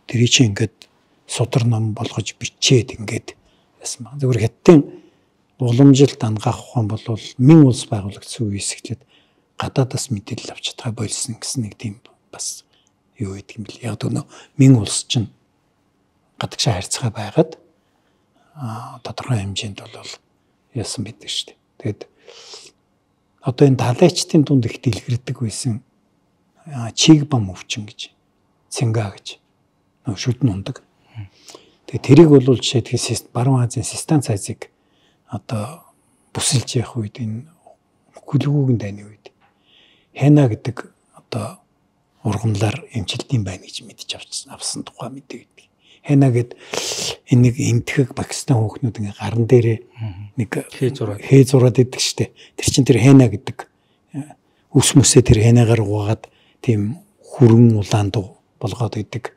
B: тэрий чи ингээд судар ном болгож бичээд ингээд яасан баг. Зөвхөн хятадын уламжилт ангаах ухаан бол мэн улс байгуулагдсан үеэс эхлээд гадаадаас мэдээлэл авч чадхаа болсон гэсэн нэг тийм бас юу гэдэг юм бэл. Яг өнөө мэн улс чинь гадагшаа харьцаа байгаад а тодорхой хэмжээнд бол яасан байдаг шүү дээ. Тэгэд одоо энэ далайчдын дунд их дэлгэрдэг байсан чигбам өвчин гэж цэнга гэж нөө шүдэн ундаг. Тэгээ тэрийг бол жишээлбэл баруун Азийн Систан цайзыг одоо бүсэлж явах үед энэ хөлгүүгийн дайны үед Хэна гэдэг одоо ургамлаар эмчилдэм байна гэж мэдж авсан авсан тухай мэдээ гэдэг. Хэна гэд энэ нэг энтхэг Пакистан хүүхнүүд ингээ гарн дээрээ нэг хээ зураад хээ зураад идэг штэ. Тэр чин тэр Хэна гэдэг үс мүсээ тэр Хэнагаар угаагаад тийм хүрэн улаан дуу болгоод идэг.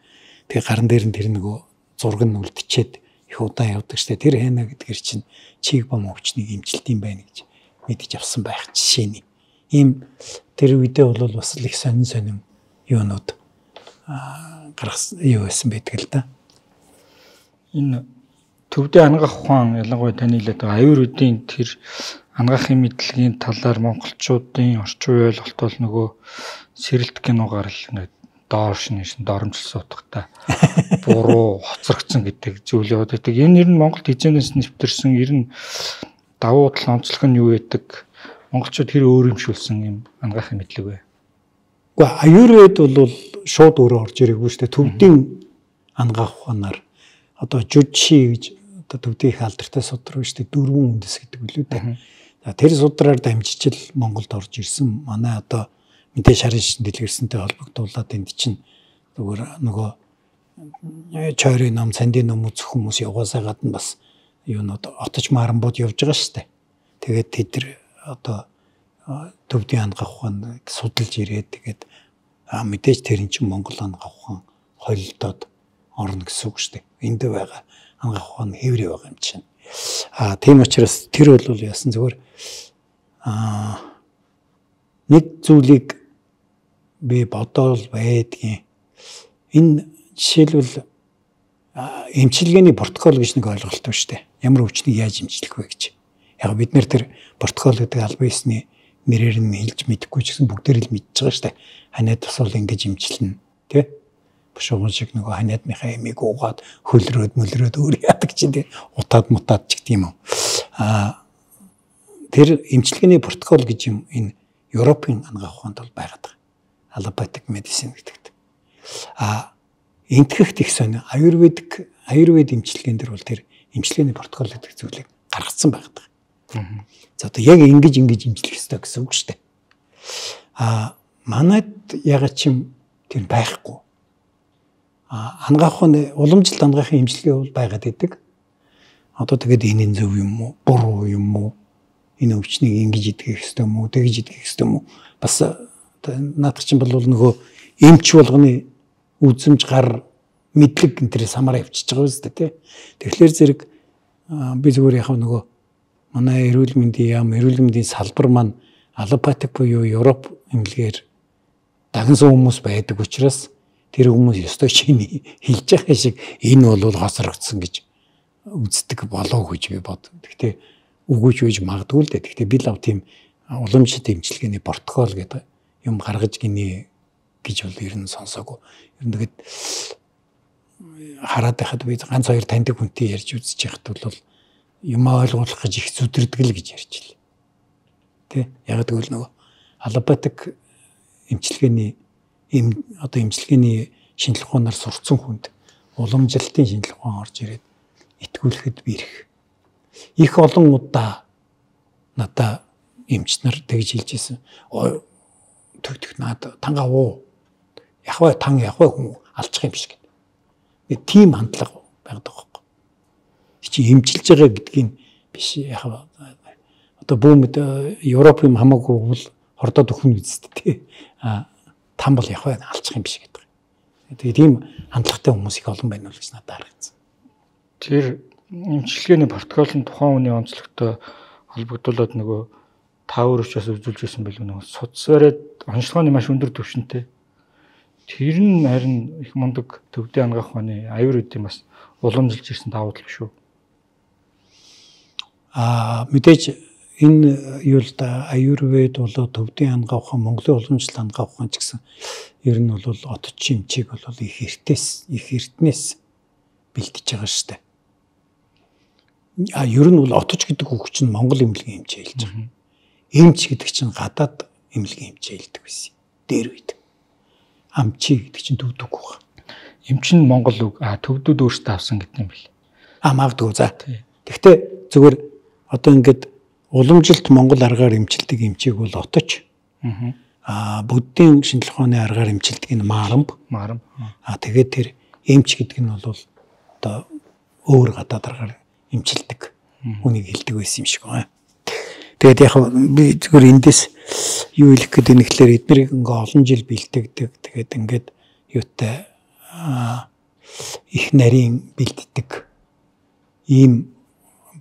B: Тэгээ гарн дээр нь тэр нөгөө зураг нь үлдчихэд их удаан явдаг штэ. Тэр Хэна гэдгээр чин чигбам өвчнийг эмчилдэм байна гэж мэдж авсан байх жишээний. Ийм тэр үедээ бол бас л их сонин сонин юунууд гаргасан юу байсан байдаг л да.
C: Энэ төвдөө ангаах ухаан ялангуяа таны хэлээд байгаа аюурведийн тэр ангаахын мэдлэгийн талаар монголчуудын орчин үеийн ойлголт бол нөгөө сэрэлт киногаар л нэг доош нэшин доромжилсан утгатай буруу хоцрогдсон гэдэг зүйл яваад байдаг. Энэ ер нь Монголд хизээнээс нэвтэрсэн ер нь давуу тал онцлог нь юу байдаг? Монголчууд хэр өөрөмшүүлсэн юм ангаахын мэдлэг вэ?
B: Гэхдээ аюурвед бол шууд өөрөө орж ирээгүй шүү дээ. Төвдийн ангаах ухаанаар одоо жужи гэж одоо төвдийн их алдартай судар биш үү? Дөрвөн үндэс гэдэг үлээ дээ. Тэр судраар дамжижил Монголд орж ирсэн. Манай одоо мэдээ шарын шин дэлгэрсэнтэй холбогдуулаад энд чинь зүгээр нөгөө чойрын ном, цандын ном үзэх хүмүүс яваасаа гадна бас юунод отож маранбууд явж байгаа шүү дээ. Тэгээд тэд нар одоо төвдийн ангаах ухаан судалж ирээд тэгээд мэдээж тэр эн чинь Монгол ангаах ухаан холилдоод орно гэсэн үг шүү дээ. Энд байгаа ангаах ухаан хэврээ байгаа юм чинь. А тийм учраас тэр бол яасан зүгээр а нэг зүйлийг би бодоол байдгийн. Энэ жишээлбэл эмчилгээний протокол гэж нэг ойлголт байна шүү дээ. Ямар өвчнийг яаж эмчилэх вэ гэж. Яг бид нэр тэр протокол гэдэг албан ёсны нэрээр нь хэлж мэдэхгүй ч гэсэн бүгдээр л мэдж байгаа шүү дээ. Ханиад тусвал ингэж эмчилнэ, тий? Бушууган шиг нөгөө ханиадныхаа эмийг уугаад хөлрөөд мөлрөөд өөр яадаг чинь тий? Утаад мутаад ч гэдэг юм уу. Аа тэр эмчилгээний протокол гэж юм энэ Европын ангаах ухаанд бол байгаад байгаа. Allopathic medicine гэдэг. А энтгэхт их сонио аюурведик аюурвед эмчилгээнд дэр бол тэр эмчилгээний протокол гэдэг зүйлийг гаргацсан байгаад байгаа. За одоо яг ингэж ингэж эмчлэх ёстой гэсэн үг шүү дээ. А манайд яг чим тэр байхгүй. ангаах нь уламжлалт ангаахын имчилгээ бол байгаад идэг. Одоо тэгээд энэ зөв юм уу, буруу юм уу? Энэ өвчнийг ингэж идэх хэвээр юм уу, тэгж идэх хэвээр юм уу? Бас наадах чинь бол нөгөө эмч болгоны үзэмж гар мэдлэг энтрээс хамаараа явчихж байгаа үстэй тий. Тэгэхээр зэрэг би зүгээр яг нөгөө манай эрүүл мэндийн яам, эрүүл мэндийн салбар маань аллопатик буюу Европ эмнэлгээр дагнсан хүмүүс байдаг учраас тэр хүмүүс ёстой шиний хэлж байгаа шиг энэ бол хосрогдсон гэж үздэг болов гэж би бод. Гэхдээ үгүйч үж магадгүй л дээ. Гэхдээ би лав тийм уламжлалт эмчилгээний протокол гэдэг юм гаргаж гинэ гэж бол ер нь сонсоогүй. Ер нь тэгээд хараад байхад би ганц хоёр таньдаг хүнтэй ярьж үзэж байхад бол юм ойлгуулах гэж их зүдэрдэг л гэж ярьж илээ. Тэ? Яг тэгвэл нөгөө аллопатик эмчилгээний им одоо эмчилгээний шинжилгээ ухаанаар сурцсан хүнд уламжлалтын шинжилгээ ухаан орж ирээд итгүүлэхэд би ирэх. Их олон удаа надаа эмч нар тэгж хэлж ирсэн. Ой төгтөх наад тангаа уу. Яхваа тан яхваа хүн алчих юм биш гэдэг. Тийм хандлага байгаад байгаа байхгүй. Чи эмчилж байгаа гэдгийг биш яхаа одоо бүүмд Европ юм хамаагүй бол хордоод өхнө үсттэй тий. А там бол яхаа алчих юм биш гэдэг. Тэгээ тийм хандлагатай хүмүүс их олон байна л гэж надад харагдсан.
C: Тэр эмчилгээний протокол нь тухайн хүний онцлогтой холбогдуулаад нөгөө тавар өвчөөс үзүүлж байсан байлгүй нөгөө судас бариад онцлогооны маш өндөр түвшинтэй. Тэр нь харин их мундаг төвдөө ангаах ухааны аюуруудын бас уламжилж ирсэн давуу тал шүү.
B: Аа мэдээж энэ юу л да аюурвед болоо төвдөө ангаах ухаан Монголын уламжлалт ангаах ухаан ч гэсэн ер нь бол отч эмчийг бол их эртнээс их эртнээс бэлтэж байгаа шүү дээ. А ер нь бол отч гэдэг үг чинь Монгол эмнэлгийн эмчээ хэлж байгаа. Эмч гэдэг чинь гадаад эмнэлгийн эмчээ хэлдэг байсан. Дээр үед. Амчи гэдэг чинь төвдөг үг.
C: Эмч нь Монгол үг, а төвдүүд өөрсдөө авсан гэдэг юм бэл.
B: А магадгүй за. Гэхдээ зүгээр одоо ингээд уламжилт Монгол аргаар эмчилдэг эмчийг бол отч. Аа буддийн шинжилгээ ухааны аргаар эмчилдэг нь марамб.
C: Марамб.
B: А тэгээд тэр эмч гэдэг нь бол одоо өөр гадаад аргаар эмчилдэг хүнийг хэлдэг байсан юм шиг байна. Тэгээд яг би зүгээр эндээс юу хэлэх гээд байна гэхээр эднэрийг ингээ олон жил бэлтгэдэг. Тэгээд ингээд юутай их нарийн бэлддэг ийм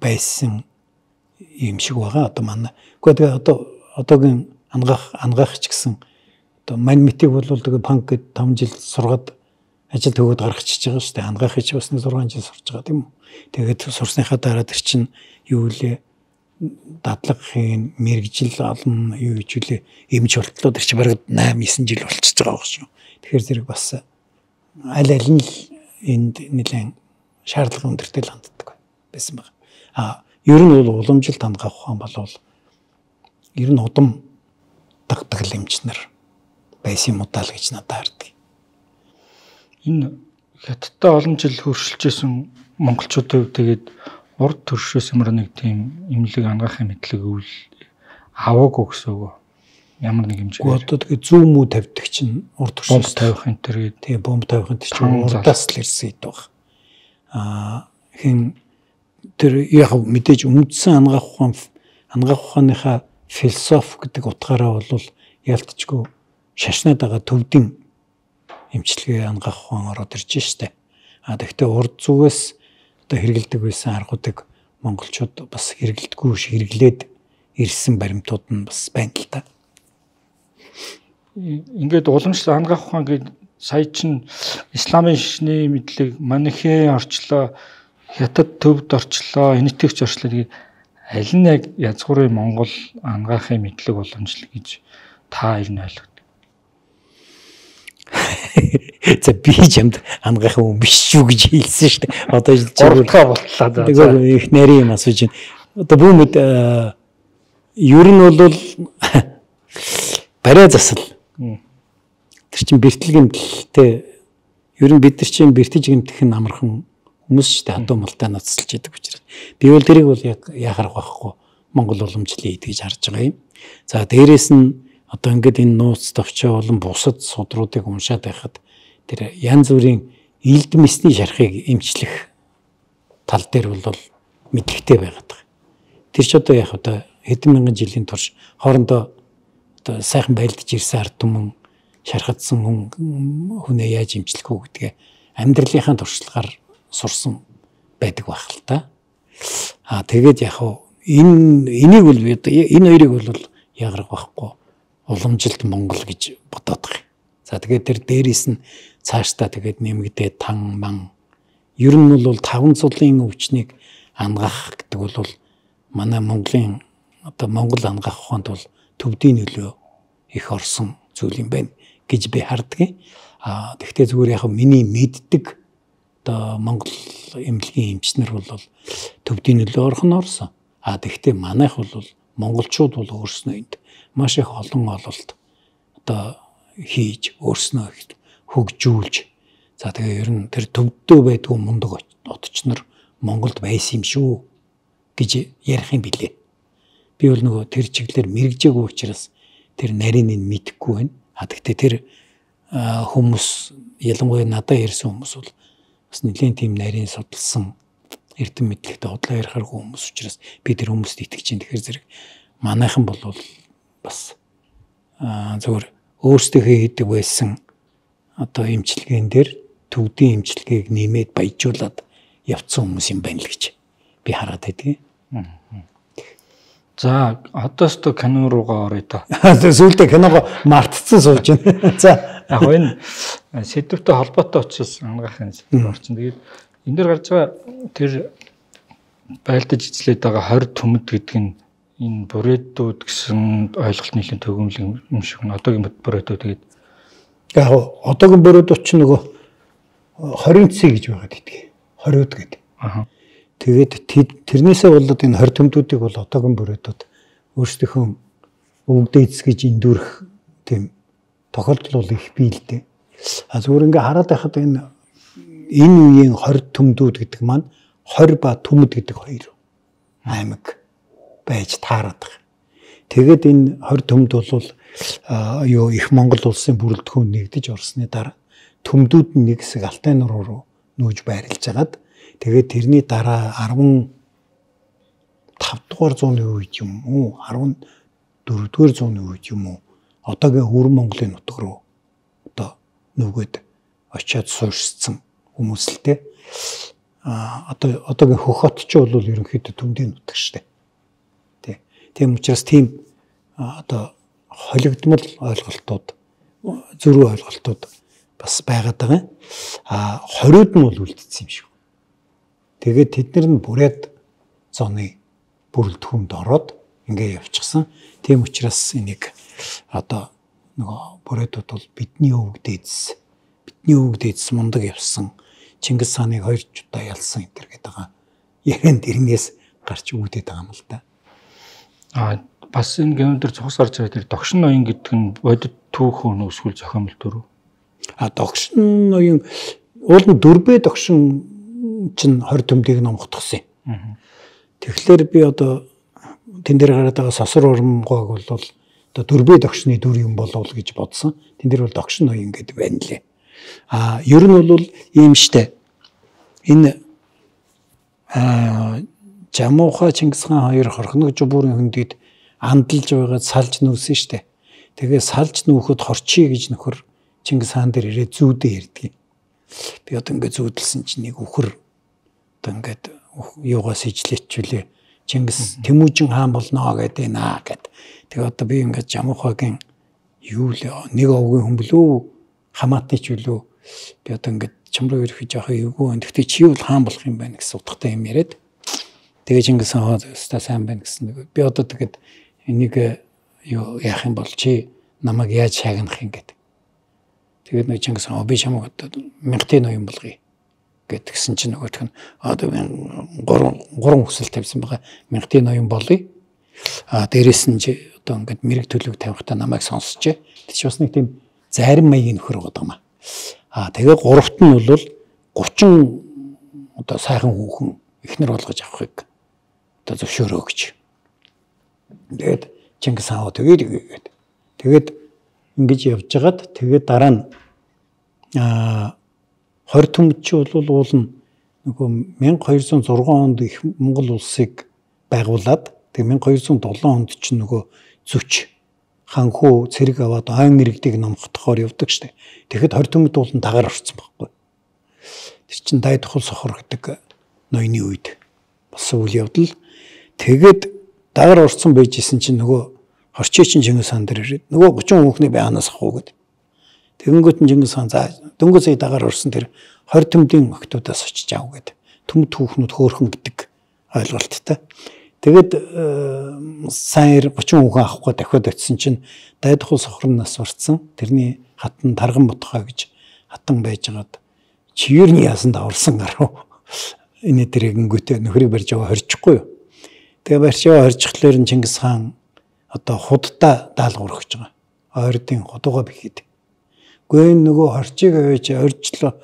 B: байсан юм шиг байгаа одоо манай. Гэхдээ одоо одоогийн ангаах ангаах ч гэсэн одоо мань митиг бол тэгээ панк гэд таван жил сургаад ажил төгөөд гаргачихж байгаа шүү дээ. Ангаахыг ч бас нэг зургаан жил сурч байгаа тийм үү. Тэгээд сурсныхаа дараа тэр чинь юу лээ дадлагын мэрэгжил олон юу гэж үлээ эмч болтлоо тэр чинь бараг восемь девять жил болчихж байгаа шүү. Тэгэхээр зэрэг бас аль аль нь энд нэлээд шаардлага өндөртэй л ханддаг байсан байна. А ер нь бол уламжилт ангаах ухаан болвол ер нь удам дагдаг эмч нар байсан юм удаа л гэж надад хардаг.
C: Энэ хятадтай олон жил хөршилжсэн монголчуудын тэгээд урд төршөөс ямар нэг тийм эмнэлэг ангаахын мэдлэг өвл аваагүй гэсэн үг. Ямар нэг хэмжээгээр.
B: Одоо тэгээд зүүн мүү тавьдаг чинь урд төршөөс
C: тавих энэ төр гэдэг.
B: Тийм бомб тавих энэ чинь урдаас л ирсэн хэд баг. Аа хин тэр яг мэдээж үндсэн ангаах ухаан ангаах ухааныхаа философи гэдэг утгаараа бол ялтчгүй шашнаад байгаа төвдийн эмчилгээ ангаах ухаан ороод ирж штэ. А тэгвэл урд зүгээс одоо хэрэгэлдэг байсан аргуудыг монголчууд бас хэрэгэлдэггүй хэрэглээд ирсэн баримтууд нь бас байна л та.
C: Ингээд уламжлалт ангаах ухаан гэдэг сая чин исламын шашны мэдлэг манихэ орчлоо, хятад төвд орчлоо, энэтхэгч орчлоо гэдэг аль нь яг язгуурын монгол ангаахын мэдлэг уламжлал гэж та ер нь ойлгодог.
B: За би чамд ангаах юм биш шүү гэж хэлсэн шүү дээ. Одоо
C: гуравдгаа болтлаа за.
B: Тэгээ их нарийн юм асууж байна. Одоо бүүмэд ер нь бол барай засал. Тэр чин бэртэл гэмтэлтэй ер нь бид нар чин бэртэж гэмтэх нь амархан хүмүүс шүү дээ. Хадуу малтай ноцолж идэг учраас. Би бол тэрийг бол яг яхарах байхгүй. Монгол уламжлалыг идэж харж байгаа юм. За дээрэс нь одоо ингээд энэ нууц товчоо болон бусад судруудыг уншаад байхад тэр янз бүрийн Ийд мэсний шархыг эмчлэх тал дээр бол мэдлэгтэй байгаад байгаа. Тэр ч одоо яг одоо хэдэн мянган жилийн турш хоорондоо одоо сайхан байлдаж ирсэн ард түмэн шархагдсан хүнээ яаж эмчлэх үү гэдгээ амьдралынхаа туршлагаар сурсан байдаг байх л та. Аа тэгээд яг энэ энийг бол энэ хоёрыг бол ягарах байхгүй уламжилт Монгол гэж бодоод байгаа. За тэгээд тэр дээрээс нь цаашдаа тэгээд нэмэгдээ тан ман ер нь бол таван цулын өвчнийг ангах гэдэг бол манай Монголын одоо Монгол ангах ухаанд бол төвдийн нөлөө их орсон зүйл юм байна гэж би харддаг. А тэгвэл зүгээр яг миний мэддэг одоо Монгол эмнэлгийн эмчнэр бол төвдийн нөлөө орох нь орсон. А тэгвэл манайх бол монголчууд бол өөрснөө энд маш их олон ололт одоо хийж өөрснөө хөгжүүлж за тэгээ ер нь тэр төвдөө байдгүй мундаг отчнор Монголд байсан юм шүү гэж ярих юм билээ. Би бол нөгөө тэр чиглэлээр мэрэгжээгүй учраас тэр нарийн нь мэдэхгүй байна. А тэгтээ тэр хүмүүс ялангуяа надад ярьсан хүмүүс бол бас нэлийн тийм нарийн судалсан эрдэм мэдлэгтэй худлаа ярихааргүй хүмүүс учраас би тэр хүмүүст итгэж чинь тэгэхээр зэрэг манайхан бол бас зөвхөн өөрсдийнхөө хийдэг байсан одоо эмчилгээн дээр төвдийн эмчилгээг нэмээд баяжуулаад явцсан хүмүүс юм байна л гэж би хараад байдаг.
C: За одоос то кино руугаа орё та.
B: Сүүлдээ киногоо мартцсан сууж байна. За
C: яг энэ сэдвтэй холбоотой учраас ангахын сэдв орчин. Тэгээд энэ дээр гарч байгаа тэр байлдаж эзлээд байгаа хорь төмөд гэдэг нь энэ бүрээдүүд гэсэн ойлголт нийлэн төгөмлөг юм шиг нь одоогийн бүрээдүүд тэгээд
B: яг одоогийн бүрээдүүд ч нөгөө хорийн цэг гэж байгаад идэх. Хориуд гэдэг. Аа. Тэгээд тэрнээсээ болоод энэ хорь төмдүүдийг бол одоогийн бүрээдүүд өөрсдийнхөө өвгдөө эцгэж эндүрх тийм тохиолдол бол их бий л дээ. А зүгээр ингээ хараад байхад энэ энэ үеийн хорь төмдүүд гэдэг маань хорь ба төмөд гэдэг хоёр аймаг байж таарад байгаа. Тэгээд энэ хорь төмд бол юу их Монгол улсын бүрэлдэхүүн нэгдэж орсны дараа төмдүүд нь нэг хэсэг Алтай нур руу нүүж байрлаж хагаад тэгээд тэрний дараа арван тав дугаар зууны үед юм уу арван дөрвөн зууны үед юм уу одоогийн Өвөр Монголын нутаг руу одоо нүгэд очиад суурьшсан хүмүүс л те а одоо одоогийн Хөхот ч бол ерөнхийдөө төмдийн нутаг штэ тий. Тийм учраас тийм одоо холигдмал ойлголтууд зөрүү ойлголтууд бас байгаад байгаа. А хориуд нь бол үлдсэн юм шиг. Тэгээд тэд нар нь бүрээд зоны бүрэлдэхүүнд ороод ингээ явчихсан. Тийм учраас энийг одоо нөгөө бүрээдүүд бол бидний өвөг дээдс бидний өвөг дээдс мундаг явсан Чингис хааныг хоёр удаа ялсан энэ гэдэг байгаа. Ярианд ирнээс гарч үүдээд байгаа юм л да.
C: А бас энэ гэнэ дээр цус гарч байгаа тэр догшин ноён гэдэг нь бодит түүхэн өсвөл зохиомл төрөө.
B: А догшин ноён уул нь дөрбөө догшин чинь хорь төмдийг номготгосон юм. Тэгэхээр би одоо тэн дээр гараад байгаа сосор урмгойг бол одоо дөрбөө догшны дүр юм болов гэж бодсон. Тэн дээр бол догшин ноён гэдэг байна лээ. А ер нь бол ийм штэ. Энэ а Жамууха Чингис хаан хоёр хорхног жубуурын хөндөд андалж байгаад салж нүүсэн штэ. Тэгээ салж нүүхэд хорчий гэж нөхөр Чингис хаан дээр ирээд зүүдээ ярдгийг. Би одоо ингээд зүүдэлсэн чинь нэг үхэр одоо ингээд юугаас ижлээчвүлээ. Чингис Тэмүүжин хаан болноо гэдэг наа гэд. Тэгээ одоо би ингээд Жамуухагийн юу л нэг овгийн хүмблүү хамаатны ч үлээ. Би одоо ингээд чамруу ирэх жоох эвгүй байна. Гэхдээ чи бол хаан болох юм байна гэсэн утгатай юм яриад. Тэгээ Чингис хаан өстой сайн байна гэсэн. Би одоо тэгээд энийг юу яах юм бол чи намайг яаж шагнах юм гээд. Тэгээд нэг Чингис хаан би чамайг одоо мянгатай ноён болгоё гэдгсэн чинь нөгөөх нь одоо гурван гурван хүсэл тавьсан байгаа. Мянгатай ноён болъё. А дээрэс нь чи одоо ингээд мэрэг төлөв тавихтаа намайг сонсчээ. Тэг чи бас нэг тийм зарим маягийн нөхөр байгаа юм аа. А тэгээ гуравт нь бол гучин одоо сайхан хүүхэн эхнэр болгож авахыг одоо зөвшөөрөө гэж. Тэгээд Чингис хаан тэгээд игээд тэгээд ингэж явж хагаад тэгээд дараа нь аа хорь төмөд чи бол уул нь нөгөө мянга хоёр зуун зургаан онд их Монгол улсыг байгуулад тэгээ мянга хоёр зуун долоон онд чинь нөгөө зүч ханхуу цэрэг аваад ойн иргэдийг номхдохоор явдаг штэ. Тэгэхэд хорь төмөд уул нь дагаар орсон байхгүй. Тэр чин дай тухал сохор гэдэг ноёны үед болсон үйл явдал. Тэгээд дагаар орсон байжсэн чинь нөгөө хорчий чин Чингис хаан дээр ирээд нөгөө гучин хүүхний байнаас авах гээд. Тэгэнгүүт нь Чингис хаан за дөнгөж сая дагаар орсон тэр хорь төмдийн охтуудаас очиж аав гээд. Төмд хүүхнүүд хөөхөн гэдэг ойлголттой. Тэгээд сайн гучин хүүхэн авахгүй дахиад очисон чинь дай тухал сохорноос урцсан. Тэрний хатан Тарган Ботхой гэж хатан байжгаад чивэрний ясанд аварсан гарав. Энэ тэрэгэнгүүтээ нөхрийг барьж аваа хорчихгүй юу. Тэгээ барьж аваа хорчихлоор нь Чингис хаан одоо худдаа даалгавар өгч байгаа. Ойрдын худуугаа бэхэд. Гүй нөгөө хорчийг аваач оржлоо.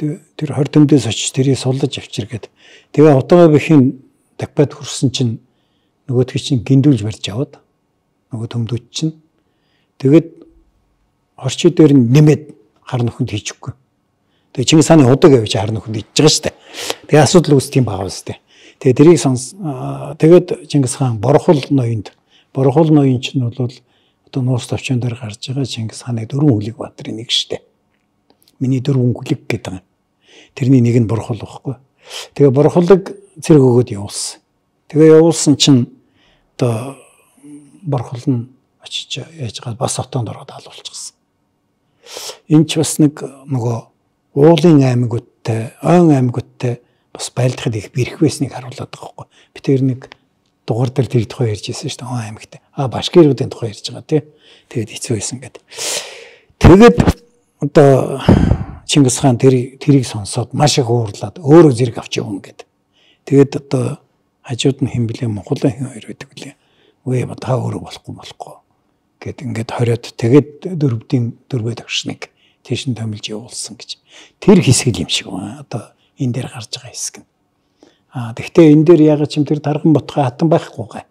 B: Тэр хорь төмдөөс очиж тэрийг суллаж авчиргээд. Тэгээ худуугаа бэхийн дахиад хүрсэн чинь нөгөөдгий чинь гиндүүлж барьж аваад нөгөө төмдөөч чинь тэгээд хорчий дээр нэмээд хар нөхөнд хийчихгүй. Тэгээ Чингис хааны удаг авч хар нөхөнд хийж байгаа шүү дээ. Тэгээ асуудал үүс тийм байгаа үстэй. Тэгээ тэрийг сонс тэгээд Чингис хаан Борхол ноёнд Борхол ноён чинь бол одоо нуус товчон дээр гарч байгаа Чингис хааны дөрвөн хүлэг баатрын нэг шүү дээ. Миний дөрвөн хүлэг гэдэг юм. Тэрний нэг нь Борхол байхгүй. Тэгээ Борхолыг цэрэг өгөөд явуулсан. Тэгээ явуулсан чинь одоо Борхол нь очиж яаж байгаа бас отоонд ороод алуулчихсан. Энд ч бас нэг нөгөө уулын аймагуудтай, ойн аймагуудтай бас байлдахад их бэрх байсныг харуулдаг байхгүй. Би тэр нэг дугаар дээр тэр тухай ярьж ирсэн шүү дээ. Ойн аймагтай. А башкируудын тухай ярьж байгаа тий. Тэгээд хэцүү байсан гэдэг. Тэгээд одоо Чингис хаан тэр тэрийг сонсоод маш их уурлаад өөрөө зэрэг авч явна гэдэг. Тэгээд одоо хажууд нь хэн блэ Монголын хэн хоёр байдаг үлээ. Үгүй та өөрөө болохгүй болохгүй гэд ингээд хориод тэгээд дөрвдийн дөрвөө тагшныг тийш нь томилж явуулсан гэж. Тэр хэсэг юм шиг байна. Одоо энэ дээр гарч байгаа хэсэг нь. Аа тэгвэл энэ дээр яг ч юм тэр Тарган Ботхой хатан байхгүй гай.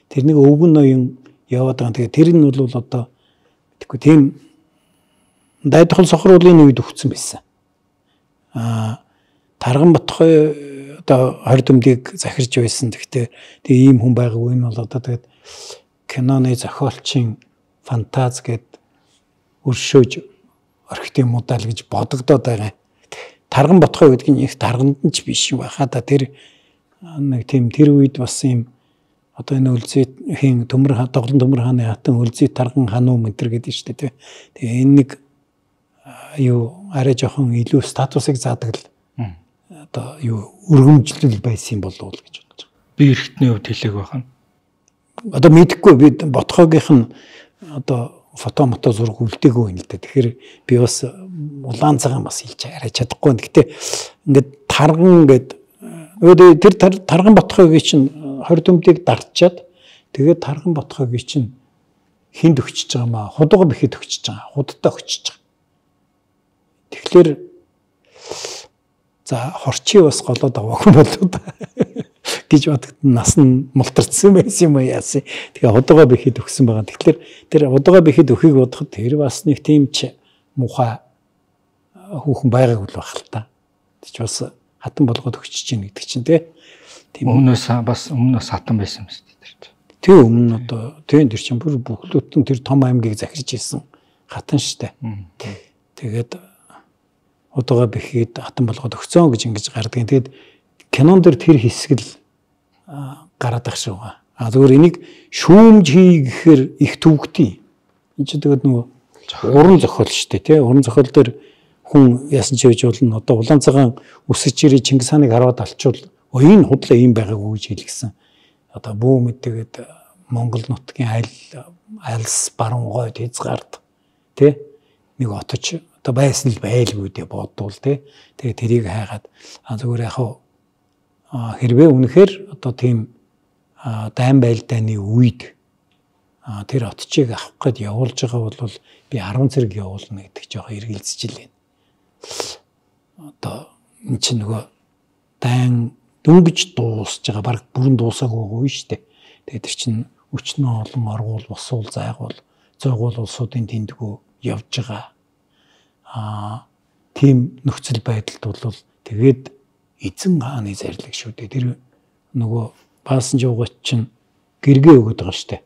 B: Тэр нэг өвгөн ноён яваад байгаа. Тэгээд тэр нь бол одоо тэгэхгүй тийм дай тухал сохор уулын үед өгсөн байсан. Аа Тарган Ботхой одоо хорь төмдийг захирж байсан. Тэгтээ тэгээ ийм хүн байгаагүй нь бол одоо тэгээд киноны зохиолчийн фантаз гэд өршөөж орхитын мудаал гэж бодогдоод байгаа. Тарган Ботхой гэдэг нь их тарганд нь ч биш байхаа да тэр нэг тийм тэр үед бас ийм одоо энэ Үлзийхийн төмөр Тоглон төмөр хааны хатан Үлзий Тарган хануу мэтэр гэдэг нь шүү дээ. Тэгээ энэ нэг юу арай жоохон илүү статусыг заадаг л одоо юу өргөмжлөл байсан болов уу гэж бодож байгаа.
C: Би эргэтний хувьд хэлээг байх нь.
B: Одоо мэдэхгүй би Ботхойгийнх нь одоо фото мото зураг үлдээгүй юм л дээ. Тэгэхээр би бас улаан цагаан бас хэлж арай чадахгүй. Гэтэ ингээд Тарган гэд тэр Тарган Ботхойгийн чинь хорь төмдийг дарчаад тэгээд Тарган Ботхойгийн чинь хинд өгчөж байгаа маа худууга бэхэд өгчөж байгаа. Худдаа өгчөж байгаа. Тэгэхээр за хорчий бас голоод аваагүй болоо да гэж бодогд нас нь мултарцсан байсан юм яасан. Тэгээ худууга бэхэд өгсөн байгаа. Тэгэхээр тэр худууга бэхэд өхийг бодоход тэр бас нэг тийм ч муухай хүүхэн байгаагүй л байх л та. Тэг чи бас хатан болгоод өгчөж чинь гэдэг чинь тийм
C: өмнөөс бас өмнөөс хатан байсан юм шүү дээ.
B: Тэг өмнө одоо тийм тэр чинь бүр бүхлөтэн тэр том аймгийг захирж ирсэн хатан штэ. Тэгээд худууга бэхэд хатан болгоод өгцөн гэж ингэж гардаг. Тэгээд кинон дээр тэр хэсэг л гараад ах шүү. А зөвөр энийг шүүмж хий гэхээр их төвөгтэй. Энд чинь тэгээд нөгөө уран зохиол шүү дээ тий. Уран зохиол дээр хүн яасан ч хийж болно. Одоо улаан цагаан үсэж ирээ Чингис хааныг хараад алчвал энэ худлаа ийм байгаагүй гэж хэлгсэн. Одоо бүү мэдээгээд Монгол нутгийн айл айлс баруун гойд хязгаард тий нэг отож одоо байсан л байлгүй дээ бодвол тий. Тэгээ тэрийг хайгаад а зүгээр яг хэрвээ үнэхээр одоо тийм дайн байлдааны үед тэр отчийг авах гээд явуулж байгаа бол би арван цэрэг явуулна гэдэг жоохон эргэлзэж байна. Одоо энэ чинь нөгөө дайн дөнгөж дуусж байгаа баг бүрэн дуусаагүй шүү дээ. Тэгээд тэр чинь өчнөө олон оргуул босуул зайгуул зойгуул улсуудын тэндгүү явж байгаа. Аа тийм нөхцөл байдалд бол тэгээд эзэн хааны зарлиг шүү дээ. Тэр нөгөө баасан жуугач чинь гэргээ өгöd байгаа штэ.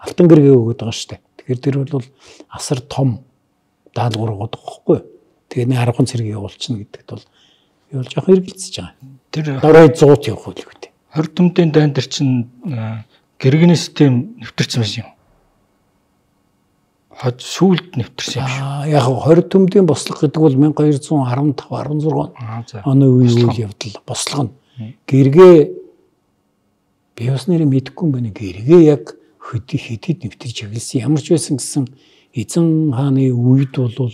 B: Алтан гэргээ өгöd байгаа штэ. Тэгэхээр тэр бол асар том даалгавар байгаа байхгүй. Тэгээд нэг аргахан цэрэг явуулчихна гэдэгт бол юу л жоох эргэлзэж байгаа. Тэр дорой зуут явах үйл үү.
C: хорь төмдийн дайн дээр чинь гэргэний систем нэвтэрсэн байсан юм. Хад сүүлд нэвтэрсэн юм шүү.
B: Аа яг хорь төмдийн бослого гэдэг бол 천хоёр зуун арван тав арван зург оны үеийн үйл явдал бослого нь. Гэргээ би бас нэрээ мэдэхгүй юм байна. Гэргээ яг хөдий хэдид нэвтэрч эхэлсэн. Ямар ч байсан гэсэн эзэн хааны үед бол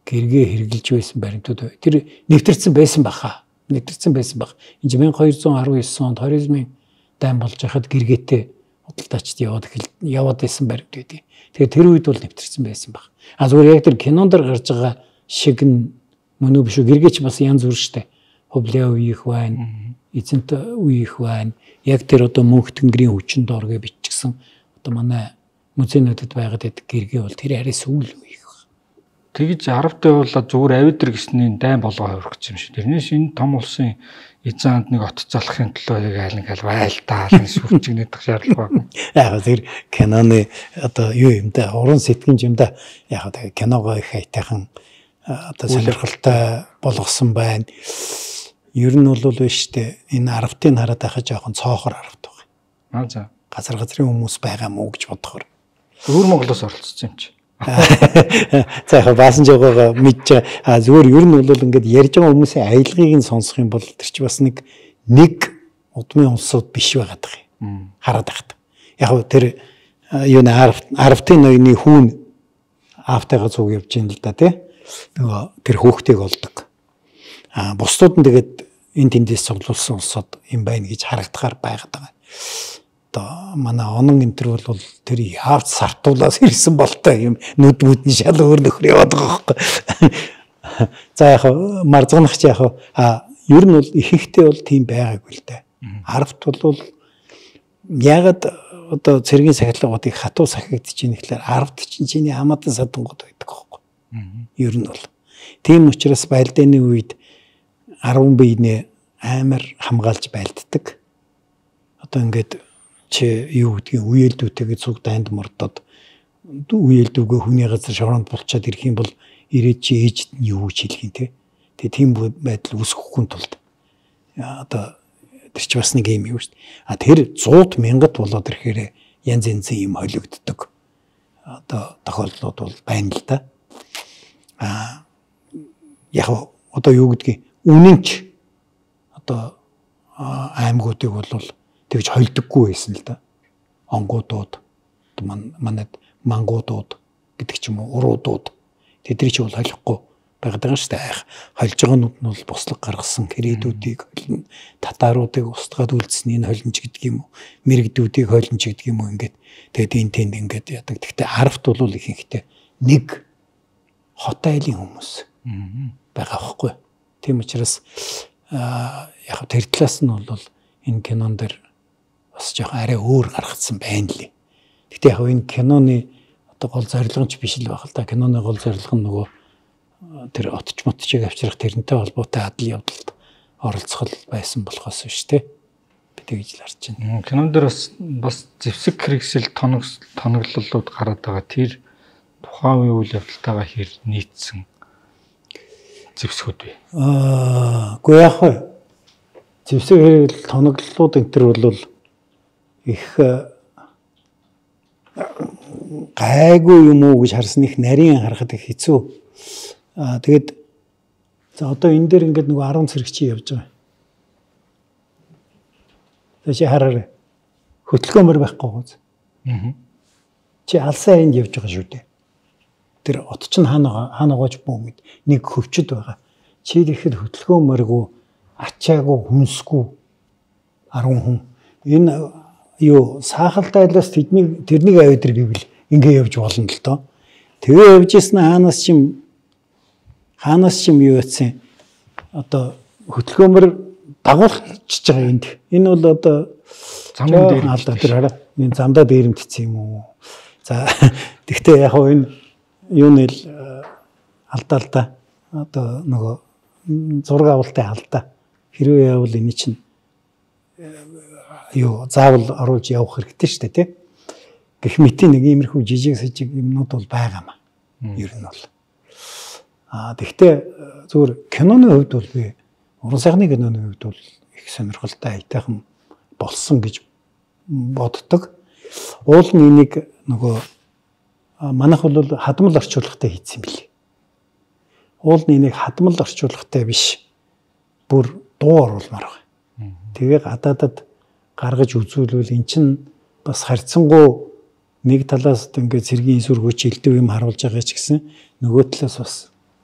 B: гэргээ хэрглэж байсан баримтууд тэр нэвтэрсэн байсан баха. Нэвтэрсэн байсан баг. Энэ 천хоёр зуун арван девять онд хоризмын дайн болж байхад гэргээтэй худалдаачд яваад яваад байсан баримт байдیں۔ Тэгэхээр тэр үед бол нэвтэрсэн байсан баг. А зүгээр яг тэр кинонд дэр гарч байгаа шиг нь мөн үү биш үү гэргээч бас янз бүр штэ. Хөвлөө үеих байна. Эзэнт үеих байна. Яг тэр одоо мөнх тэнгэрийн хүчин доор гэж бичсэн одоо манай музейнүүдэд байгаад байдаг гэргээ бол тэр арай сүүл үеих.
C: Тэгж арвтай болоод зүгээр авидр гэсний дайн болгоо хувирч юм шиг. Тэрнээс энэ том улсын эзэн ханд нэг от залахын төлөө яг айл нэг аль байлтаа сүрчигнээд тах шаардлага байна.
B: Яг тэр киноны одоо юу юм да уран сэтгэмж юм да яг тэр киногоо их хайтайхан одоо сонирхолтой болгосон байна. Ер нь бол биш үү энэ арвтыг хараад байхад жоохон цоохор арвт
C: Аа
B: байна.
C: за.
B: Газар газрын хүмүүс байгаа мó гэж бодохоор.
C: Өвөр Монголоос оролцсон юм чи.
B: За яг баасан жогоогоо мэдж а зүгээр ер нь бол ингээд ярьж байгаа хүмүүсийн аялгыг нь сонсох юм бол тэр чи бас нэг нэг удмын улсууд биш байгаад байгаа юм. Хараад байхад. Яг тэр юу нэ арвтын ноёны хүүн автайгаа цуг явж ийн л да тий. Нөгөө тэр хөөхтэйг олдог. А бусдууд нь тэгээд энэ тэндээс цуглуулсан улсууд юм байна гэж харагдахаар байгаад байгаа. Одоо манай онон энтер бол тэр яавч сартуулаас ирсэн болтой юм нүд бүдний шал өөр нөхөр яваад байгаа байхгүй. За яг марзганах чи яг а ер нь бол ихэнхдээ бол тийм байгаагүй л дээ. Арвт бол ягаад одоо цэргийн сахилгуудыг хатуу сахигдчих юм гэхлээр арвт чинь чиний хамаатан садангууд байдаг байхгүй. Ер нь бол тийм учраас байлдааны үед арван биенээ амар хамгаалж байлддаг. Одоо ингээд чи юу гэдгийг үеэлдүүтэйгээ цуг дайнд мордоод үеэлдүүгээ хүний газар шоронд болчиход ирэх юм бол ирээд чи ээжд нь юу гэж хэлэх юм те. Тэгээ тийм байдал үүсгэхгүй тулд одоо тэр чи бас нэг юм юу шүү дээ. А тэр зуут мянгад болоод ирэхээр янз янзын юм холигддог. Одоо тохиолдлууд бол байна л да. А яг одоо юу гэдгийг үнэнч одоо аймагуудыг бол тэгж холдоггүй байсан л да. Онгуудууд манад мангуудууд гэдэг ч юм уу уруудууд тэдний чи бол холихгүй байгаад байгаа шүү дээ. Холж байгаанууд нь бол бослог гаргасан кредитүүдийг холно, татааруудыг устгаад үлдсэн энэ холинч гэдэг юм уу, мэрэгдүүдийг холинч гэдэг юм уу ингээд тэгээд энэ тэнд ингээд яадаг. Гэхдээ арвт бол ихэнхдээ нэг хот айлын хүмүүс байгаа байхгүй. Тийм учраас яг тэр талаас нь бол энэ кинон дээр бас жоохон арай өөр гаргацсан байна лээ. Гэхдээ яг энэ киноны одоо гол зорилго нь ч биш л байх л да. Киноны гол зорилго нь нөгөө тэр отч мотчийг авчрах тэрнтэй холбоотой адал явдалд оролцох байсан болохоос биш те. Би тэгж л харж байна.
C: Кинон дээр бас бас зэвсэг хэрэгсэл тоног тоноглолууд гараад байгаа. Тэр тухайн үеийн үйл явдалтайгаа хэр нийцсэн зэвсгүүд бай.
B: Аа, үгүй яг хөө. Зэвсэг хэрэгэл тоноглолууд энэ төр бол их гайгүй юм уу гэж харсан их нарийн харахад их хэцүү. Аа тэгэд за одоо энэ дээр ингээд нөгөө арван цэрэг чи явж байгаа. Тэши хараарай. Хөтөлгөмөр байхгүй гоц. Аа. Чи алсаа энд явж байгаа шүү дээ. Тэр от ч хаана хаанаагаач бүү мэд нэг хөвчөд байгаа. Чи ихэд хөтөлгөмөргүй ачаагүй хүнсгүй арван хүн. Энэ юу саахалтай айлаас тэдний тэрнийг авидэр гэвэл ингээ явж болно л доо. Тэгээ явж ирсэн хаанаас ч юм хаанаас ч юм юу яцсан одоо хөтөлгөмөр дагуулчихж байгаа энд. Энэ бол одоо замдаа дээр алдаа тэр хараа. Энэ замдаа дээрэмтсэн юм уу. За тэгтээ яг хоо энэ юу нэл алдаалда одоо нөгөө зураг авалтын алдаа хэрвээ явал энэ чинь юу заавал оруулж явах хэрэгтэй шүү дээ тий. Гэх мэт нэг иймэрхүү жижиг сажиг юмнууд бол байгаамаа. Ер нь бол. Аа тэгвэл зүгээр киноны хувьд бол би уран сайхны киноны хувьд бол их сонирхолтой айтайхан болсон гэж боддог. Уул нь энийг нөгөө манайх бол хадмал орчуулагтай хийсэн билээ. Уул нь энийг хадмал орчуулагтай биш бүр дуу оруулмаар байна. Тэгээ гадаадад гаргаж үзүүлвэл эн чинь бас харьцангуй нэг талаас ингээд цэргийн сүргүүч элдв юм харуулж байгаа ч гэсэн нөгөө талаас бас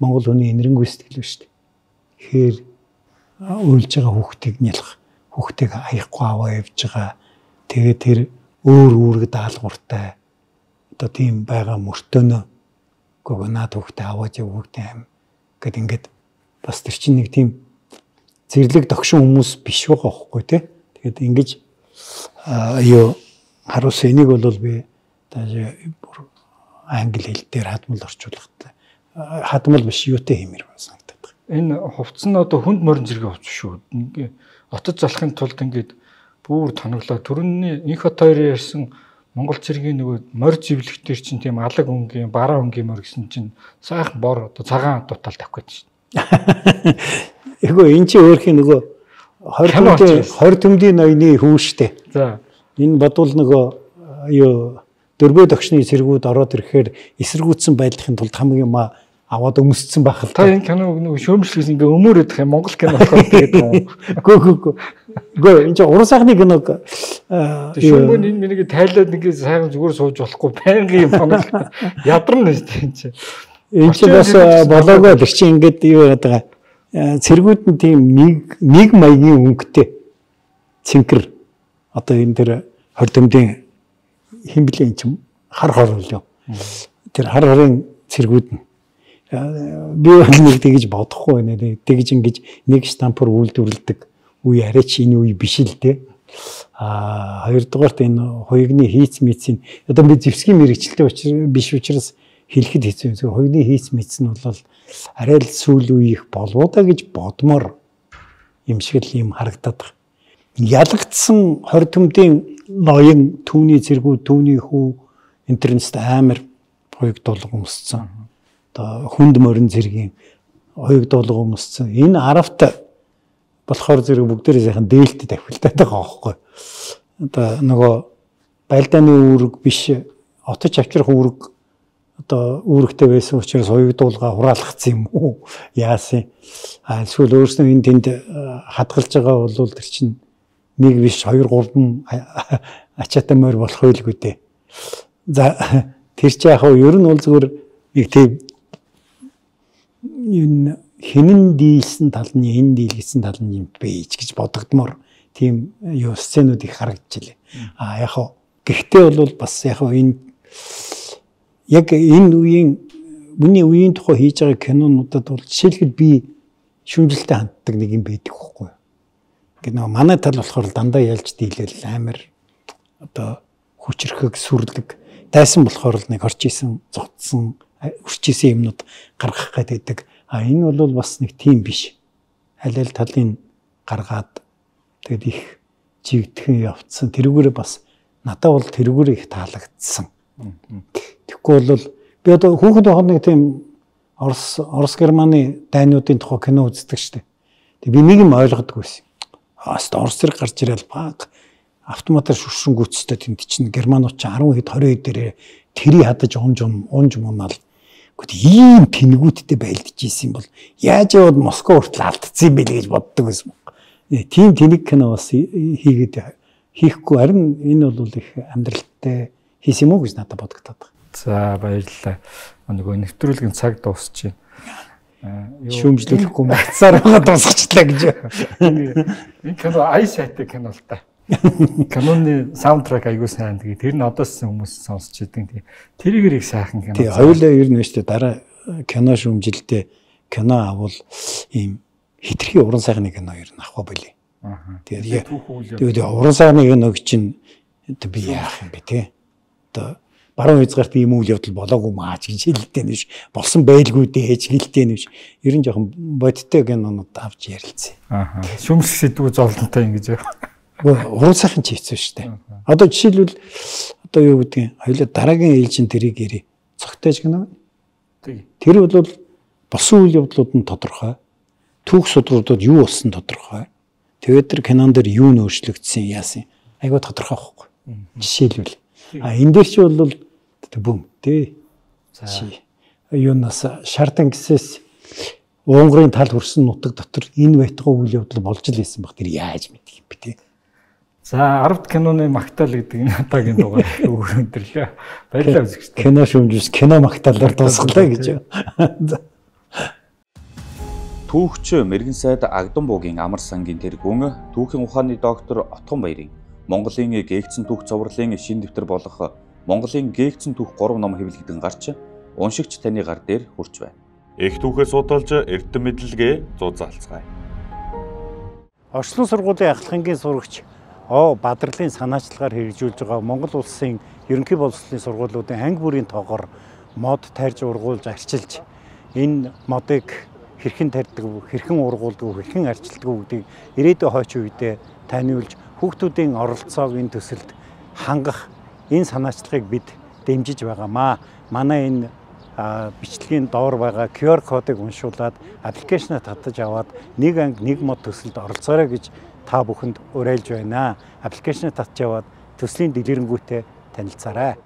B: Монгол хүний энэрэнгүй сэтгэл шүү дээ. Тэгэхээр уйлж байгаа хүүхдийг нялх, хүүхдийг аяхгүй аваа явж байгаа. Тэгээ тэр өөр үүрэг даалгавартай одоо тийм байгаа мөртөнөө гоо наад хүүхдээ аваад явуултай юм гэд ингээд бас тэр чинь нэг тийм зэрлэг догшин хүмүүс биш байгаа байхгүй тий. Тэгээд ингэж юу харуулсан энийг бол би тааж бүр англи хэл дээр хадмал орчуулгатай. Хадмал биш юутэй хэмээр санагдаад. Энэ
C: хувцс нь одоо хүнд морин зэрэг хувцс шүү. Ингээ отод залахын тулд ингээд бүр тоноглоо. Төрөний инх хот хоёрын ярьсан Монгол цэргийн нөгөө морь зэвлэгтэр чинь тийм алаг өнгийн, бараа өнгийн морь гэсэн чинь сайхан бор одоо цагаан дутаал тавих гэж шүү.
B: Эгүй эн чинь өөрхийн нөгөө хорь төмдийн ноёны хүү штэ.
C: За.
B: Энэ бодвол нөгөө юу дөрвөө догшны цэргүүд ороод ирэхээр эсэргүүцсэн байдлахын тулд хамгийн юм аваад өмсцэн байх л
C: та. Та энэ киног нөгөө шөөмжлөхөөс ингээ өмөрөдөх юм Монгол кино болохоор тэгээд юм.
B: Гөө гөө. Гөө энэ чинь уран сайхны киног
C: шөөмбөө энэ миний тайлаад нэг сайхан зүгээр сууж болохгүй байнгын юм тоног ядарна шүү дээ энэ чинь.
B: Энэ чинь бас болоогоо л чи ингээд юу яагаад байгаа. Цэргүүд нь тийм нэг нэг маягийн өнгөтэй цэнкэр одоо энэ тэр хорь төмдийн хэн блэ эн чинь хар хор л юу. Тэр хар хорын цэргүүд нь би нэг тэгж бодохгүй байна. Тэгж ингэж нэг штампаар үйлдвэрлэдэг үе арайч энэ үе биш л дээ. Аа хоёрдугаарт энэ хоёрны хийц мицийн одоо би зэвсгийн мэрэгчлээ биш учраас хэлэхэд хэцүү. зөв хоёрны хийц миц нь бол арай л сүүл үе их болов да гэж бодмоор юм шиг л юм харагдаад байна. Ялагдсан хорь төмдийн ноён түүний цэргүүд түүний хүү интернет амар хоёрд долго өмссөн. Одоо хүнд морин цэргийн хоёрд долго өмссөн. Энэ аравт болохоор зэрэг бүгдээрээ сайхан дээлтэд тавхилтаад байгаа байхгүй. Одоо нөгөө байлдааны үүрэг биш отож авчрах үүрэг одоо үүрэгтэй байсан учраас хоёрдуулга хураалгацсан юм уу? Яасан? А эсвэл өөрснөө энэ тэнд хадгалж байгаа бол тэр чинь нэг биш хоёр гурван ачаатай морь болох байлгүй дээ. За тэр чи яг ер нь бол зүгээр нэг тийм энэ хинэн дийлсэн тал нь энэ дийлсэн тал нь юм бэж гэж бодогдмоор тийм юу сценүүд их харагдчихлээ. А яг гэхдээ бол бас яг энэ яг энэ үеийн миний үеийн тухай хийж байгаа кинонуудад бол жишээлбэл би шүмжлэлтэй ханддаг нэг юм байдаг байхгүй юу. Ингээд нөгөө манай тал болохоор дандаа ялж дийлэл амар одоо хүчрхэг сүрлэг тайсан болохоор л нэг орж исэн зодсон үрч исэн юмнууд гаргах гэдэг. А энэ бол бас нэг тийм биш. Аль аль талын гаргаад тэгэд их жигдхэн явцсан. Тэрүүгээр бас надад бол тэрүүгээр их таалагдсан. Тэгэхгүй бол би одоо хүүхэд байхад нэг тийм Орос Орос Германы дайнуудын тухай кино үздэг штеп. Тэг би нэг юм ойлгодгүй байсан. Аст Орос зэрэг гарч ирэл баг автоматар шүршингүүцтэй тэнд чинь германууд чинь арван хэд хорин хэд дээрээ тэрий хадаж унж унж мунаал. Гэхдээ ийм тэнгүүттэй байлдаж ийсэн бол яаж яваад Москва хүртэл алдсан юм бэ гэж боддог байсан. Тийм тэнэг кино бас хийгээд хийхгүй харин энэ бол их амьдралтай хийсэн юм уу гэж надад бодогдоод байна.
C: За баярлалаа. Нөгөө нэвтрүүлгийн цаг дуусчихъя.
B: Шүүмжлүүлэхгүй магцаар байгаа дуусгачлаа гэж.
C: Энэ кино ай сайтай кино л та. Каноны саундтрек аягүй сайн. Тэгээ тэр нь одоос хүмүүс сонсч идэг. Тэрийг их сайхан кино.
B: Тэгээ хоёулаа ер нь шүү дээ дараа кино шүүмжилдээ кино авал ийм хитрхи уран сайхны кино ер нь авах байлээ. Аа. Тэгээд тэгээд уран сайхны киног чинь би яах юм бэ те. Одоо баруун хязгаарт ийм үйл явдал болоогүй маа гэж хэлдэг нь биш. Болсон байлгүй дээ гэж хэлдэг нь биш. Ер нь жоохон бодиттой гэнонод авч ярилцсан.
C: Аа. Шүмжлэх сэдвүү зовлонтой ингэж яа.
B: Уран сайхан ч хийсэн шүү дээ. Одоо жишээлбэл одоо юу гэдгийг хоёлаа дараагийн ээлжин тэрийг ярий. Цогтойж гэнэ. Тэр бол болсон үйл явдлууд нь тодорхой. Түүх судруудад юу болсон тодорхой. Тэгээд тэр кинон дээр юу нөөцлөгдсөн яасан. Айгуу тодорхой байхгүй. Жишээлбэл. А энэ дээр чи бол бүм тий. За юунаас шардан гисээс Унгарын тал хөрсөн нутаг дотор энэ байтугай үйл явдал болж л байсан баг. Тэр яаж мэдэх юм бэ тий.
C: За арвд киноны магтаал гэдэг энэ удаагийн дугаар өгөөндрлээ. Баярлалаа үзэгчдээ.
B: Кино шүүмжс кино магтаалаар дуусглаа гэж.
A: Түүхч Мэргэн сайд Агдам буугийн амар сангийн тэргүүн түүхийн ухааны доктор Отгон Баярын Монголын гээгцэн түүх цовруулын шин дэвтэр болох Монголын гээгцэн түүх гурван ном хэвлэгдэн гарч уншигч таны гар дээр хүрч байна. Их түүхээ судалж эрдэм мэдлэгээ зузаалцгаая.
B: Орчлон сургуулийн ахлагчийн сурагч О Бадрлын санаачлагаар хэрэгжүүлж байгаа Монгол улсын ерөнхий боловсролын сургуулиудын анги бүрийн тоогоор мод тарьж ургуулж арчилж энэ модыг хэрхэн тарьдаг, хэрхэн ургуулдаг, хэрхэн арчилдаг гэдгийг ирээдүйн хойч үедээ таниулж хүүхдүүдийн оролцоог энэ төсөлд хангах энэ санаачлагыг бид дэмжиж байгаамаа. Манай энэ бичлэгийн доор байгаа ку ар кодыг уншуулад аппликейшнаа татаж аваад нэг анги нэг мод төсөлд оролцоорой гэж та бүхэнд уриалж байна. Аппликейшнаа татж аваад төслийн дэлгэрэнгүй танилцаарай.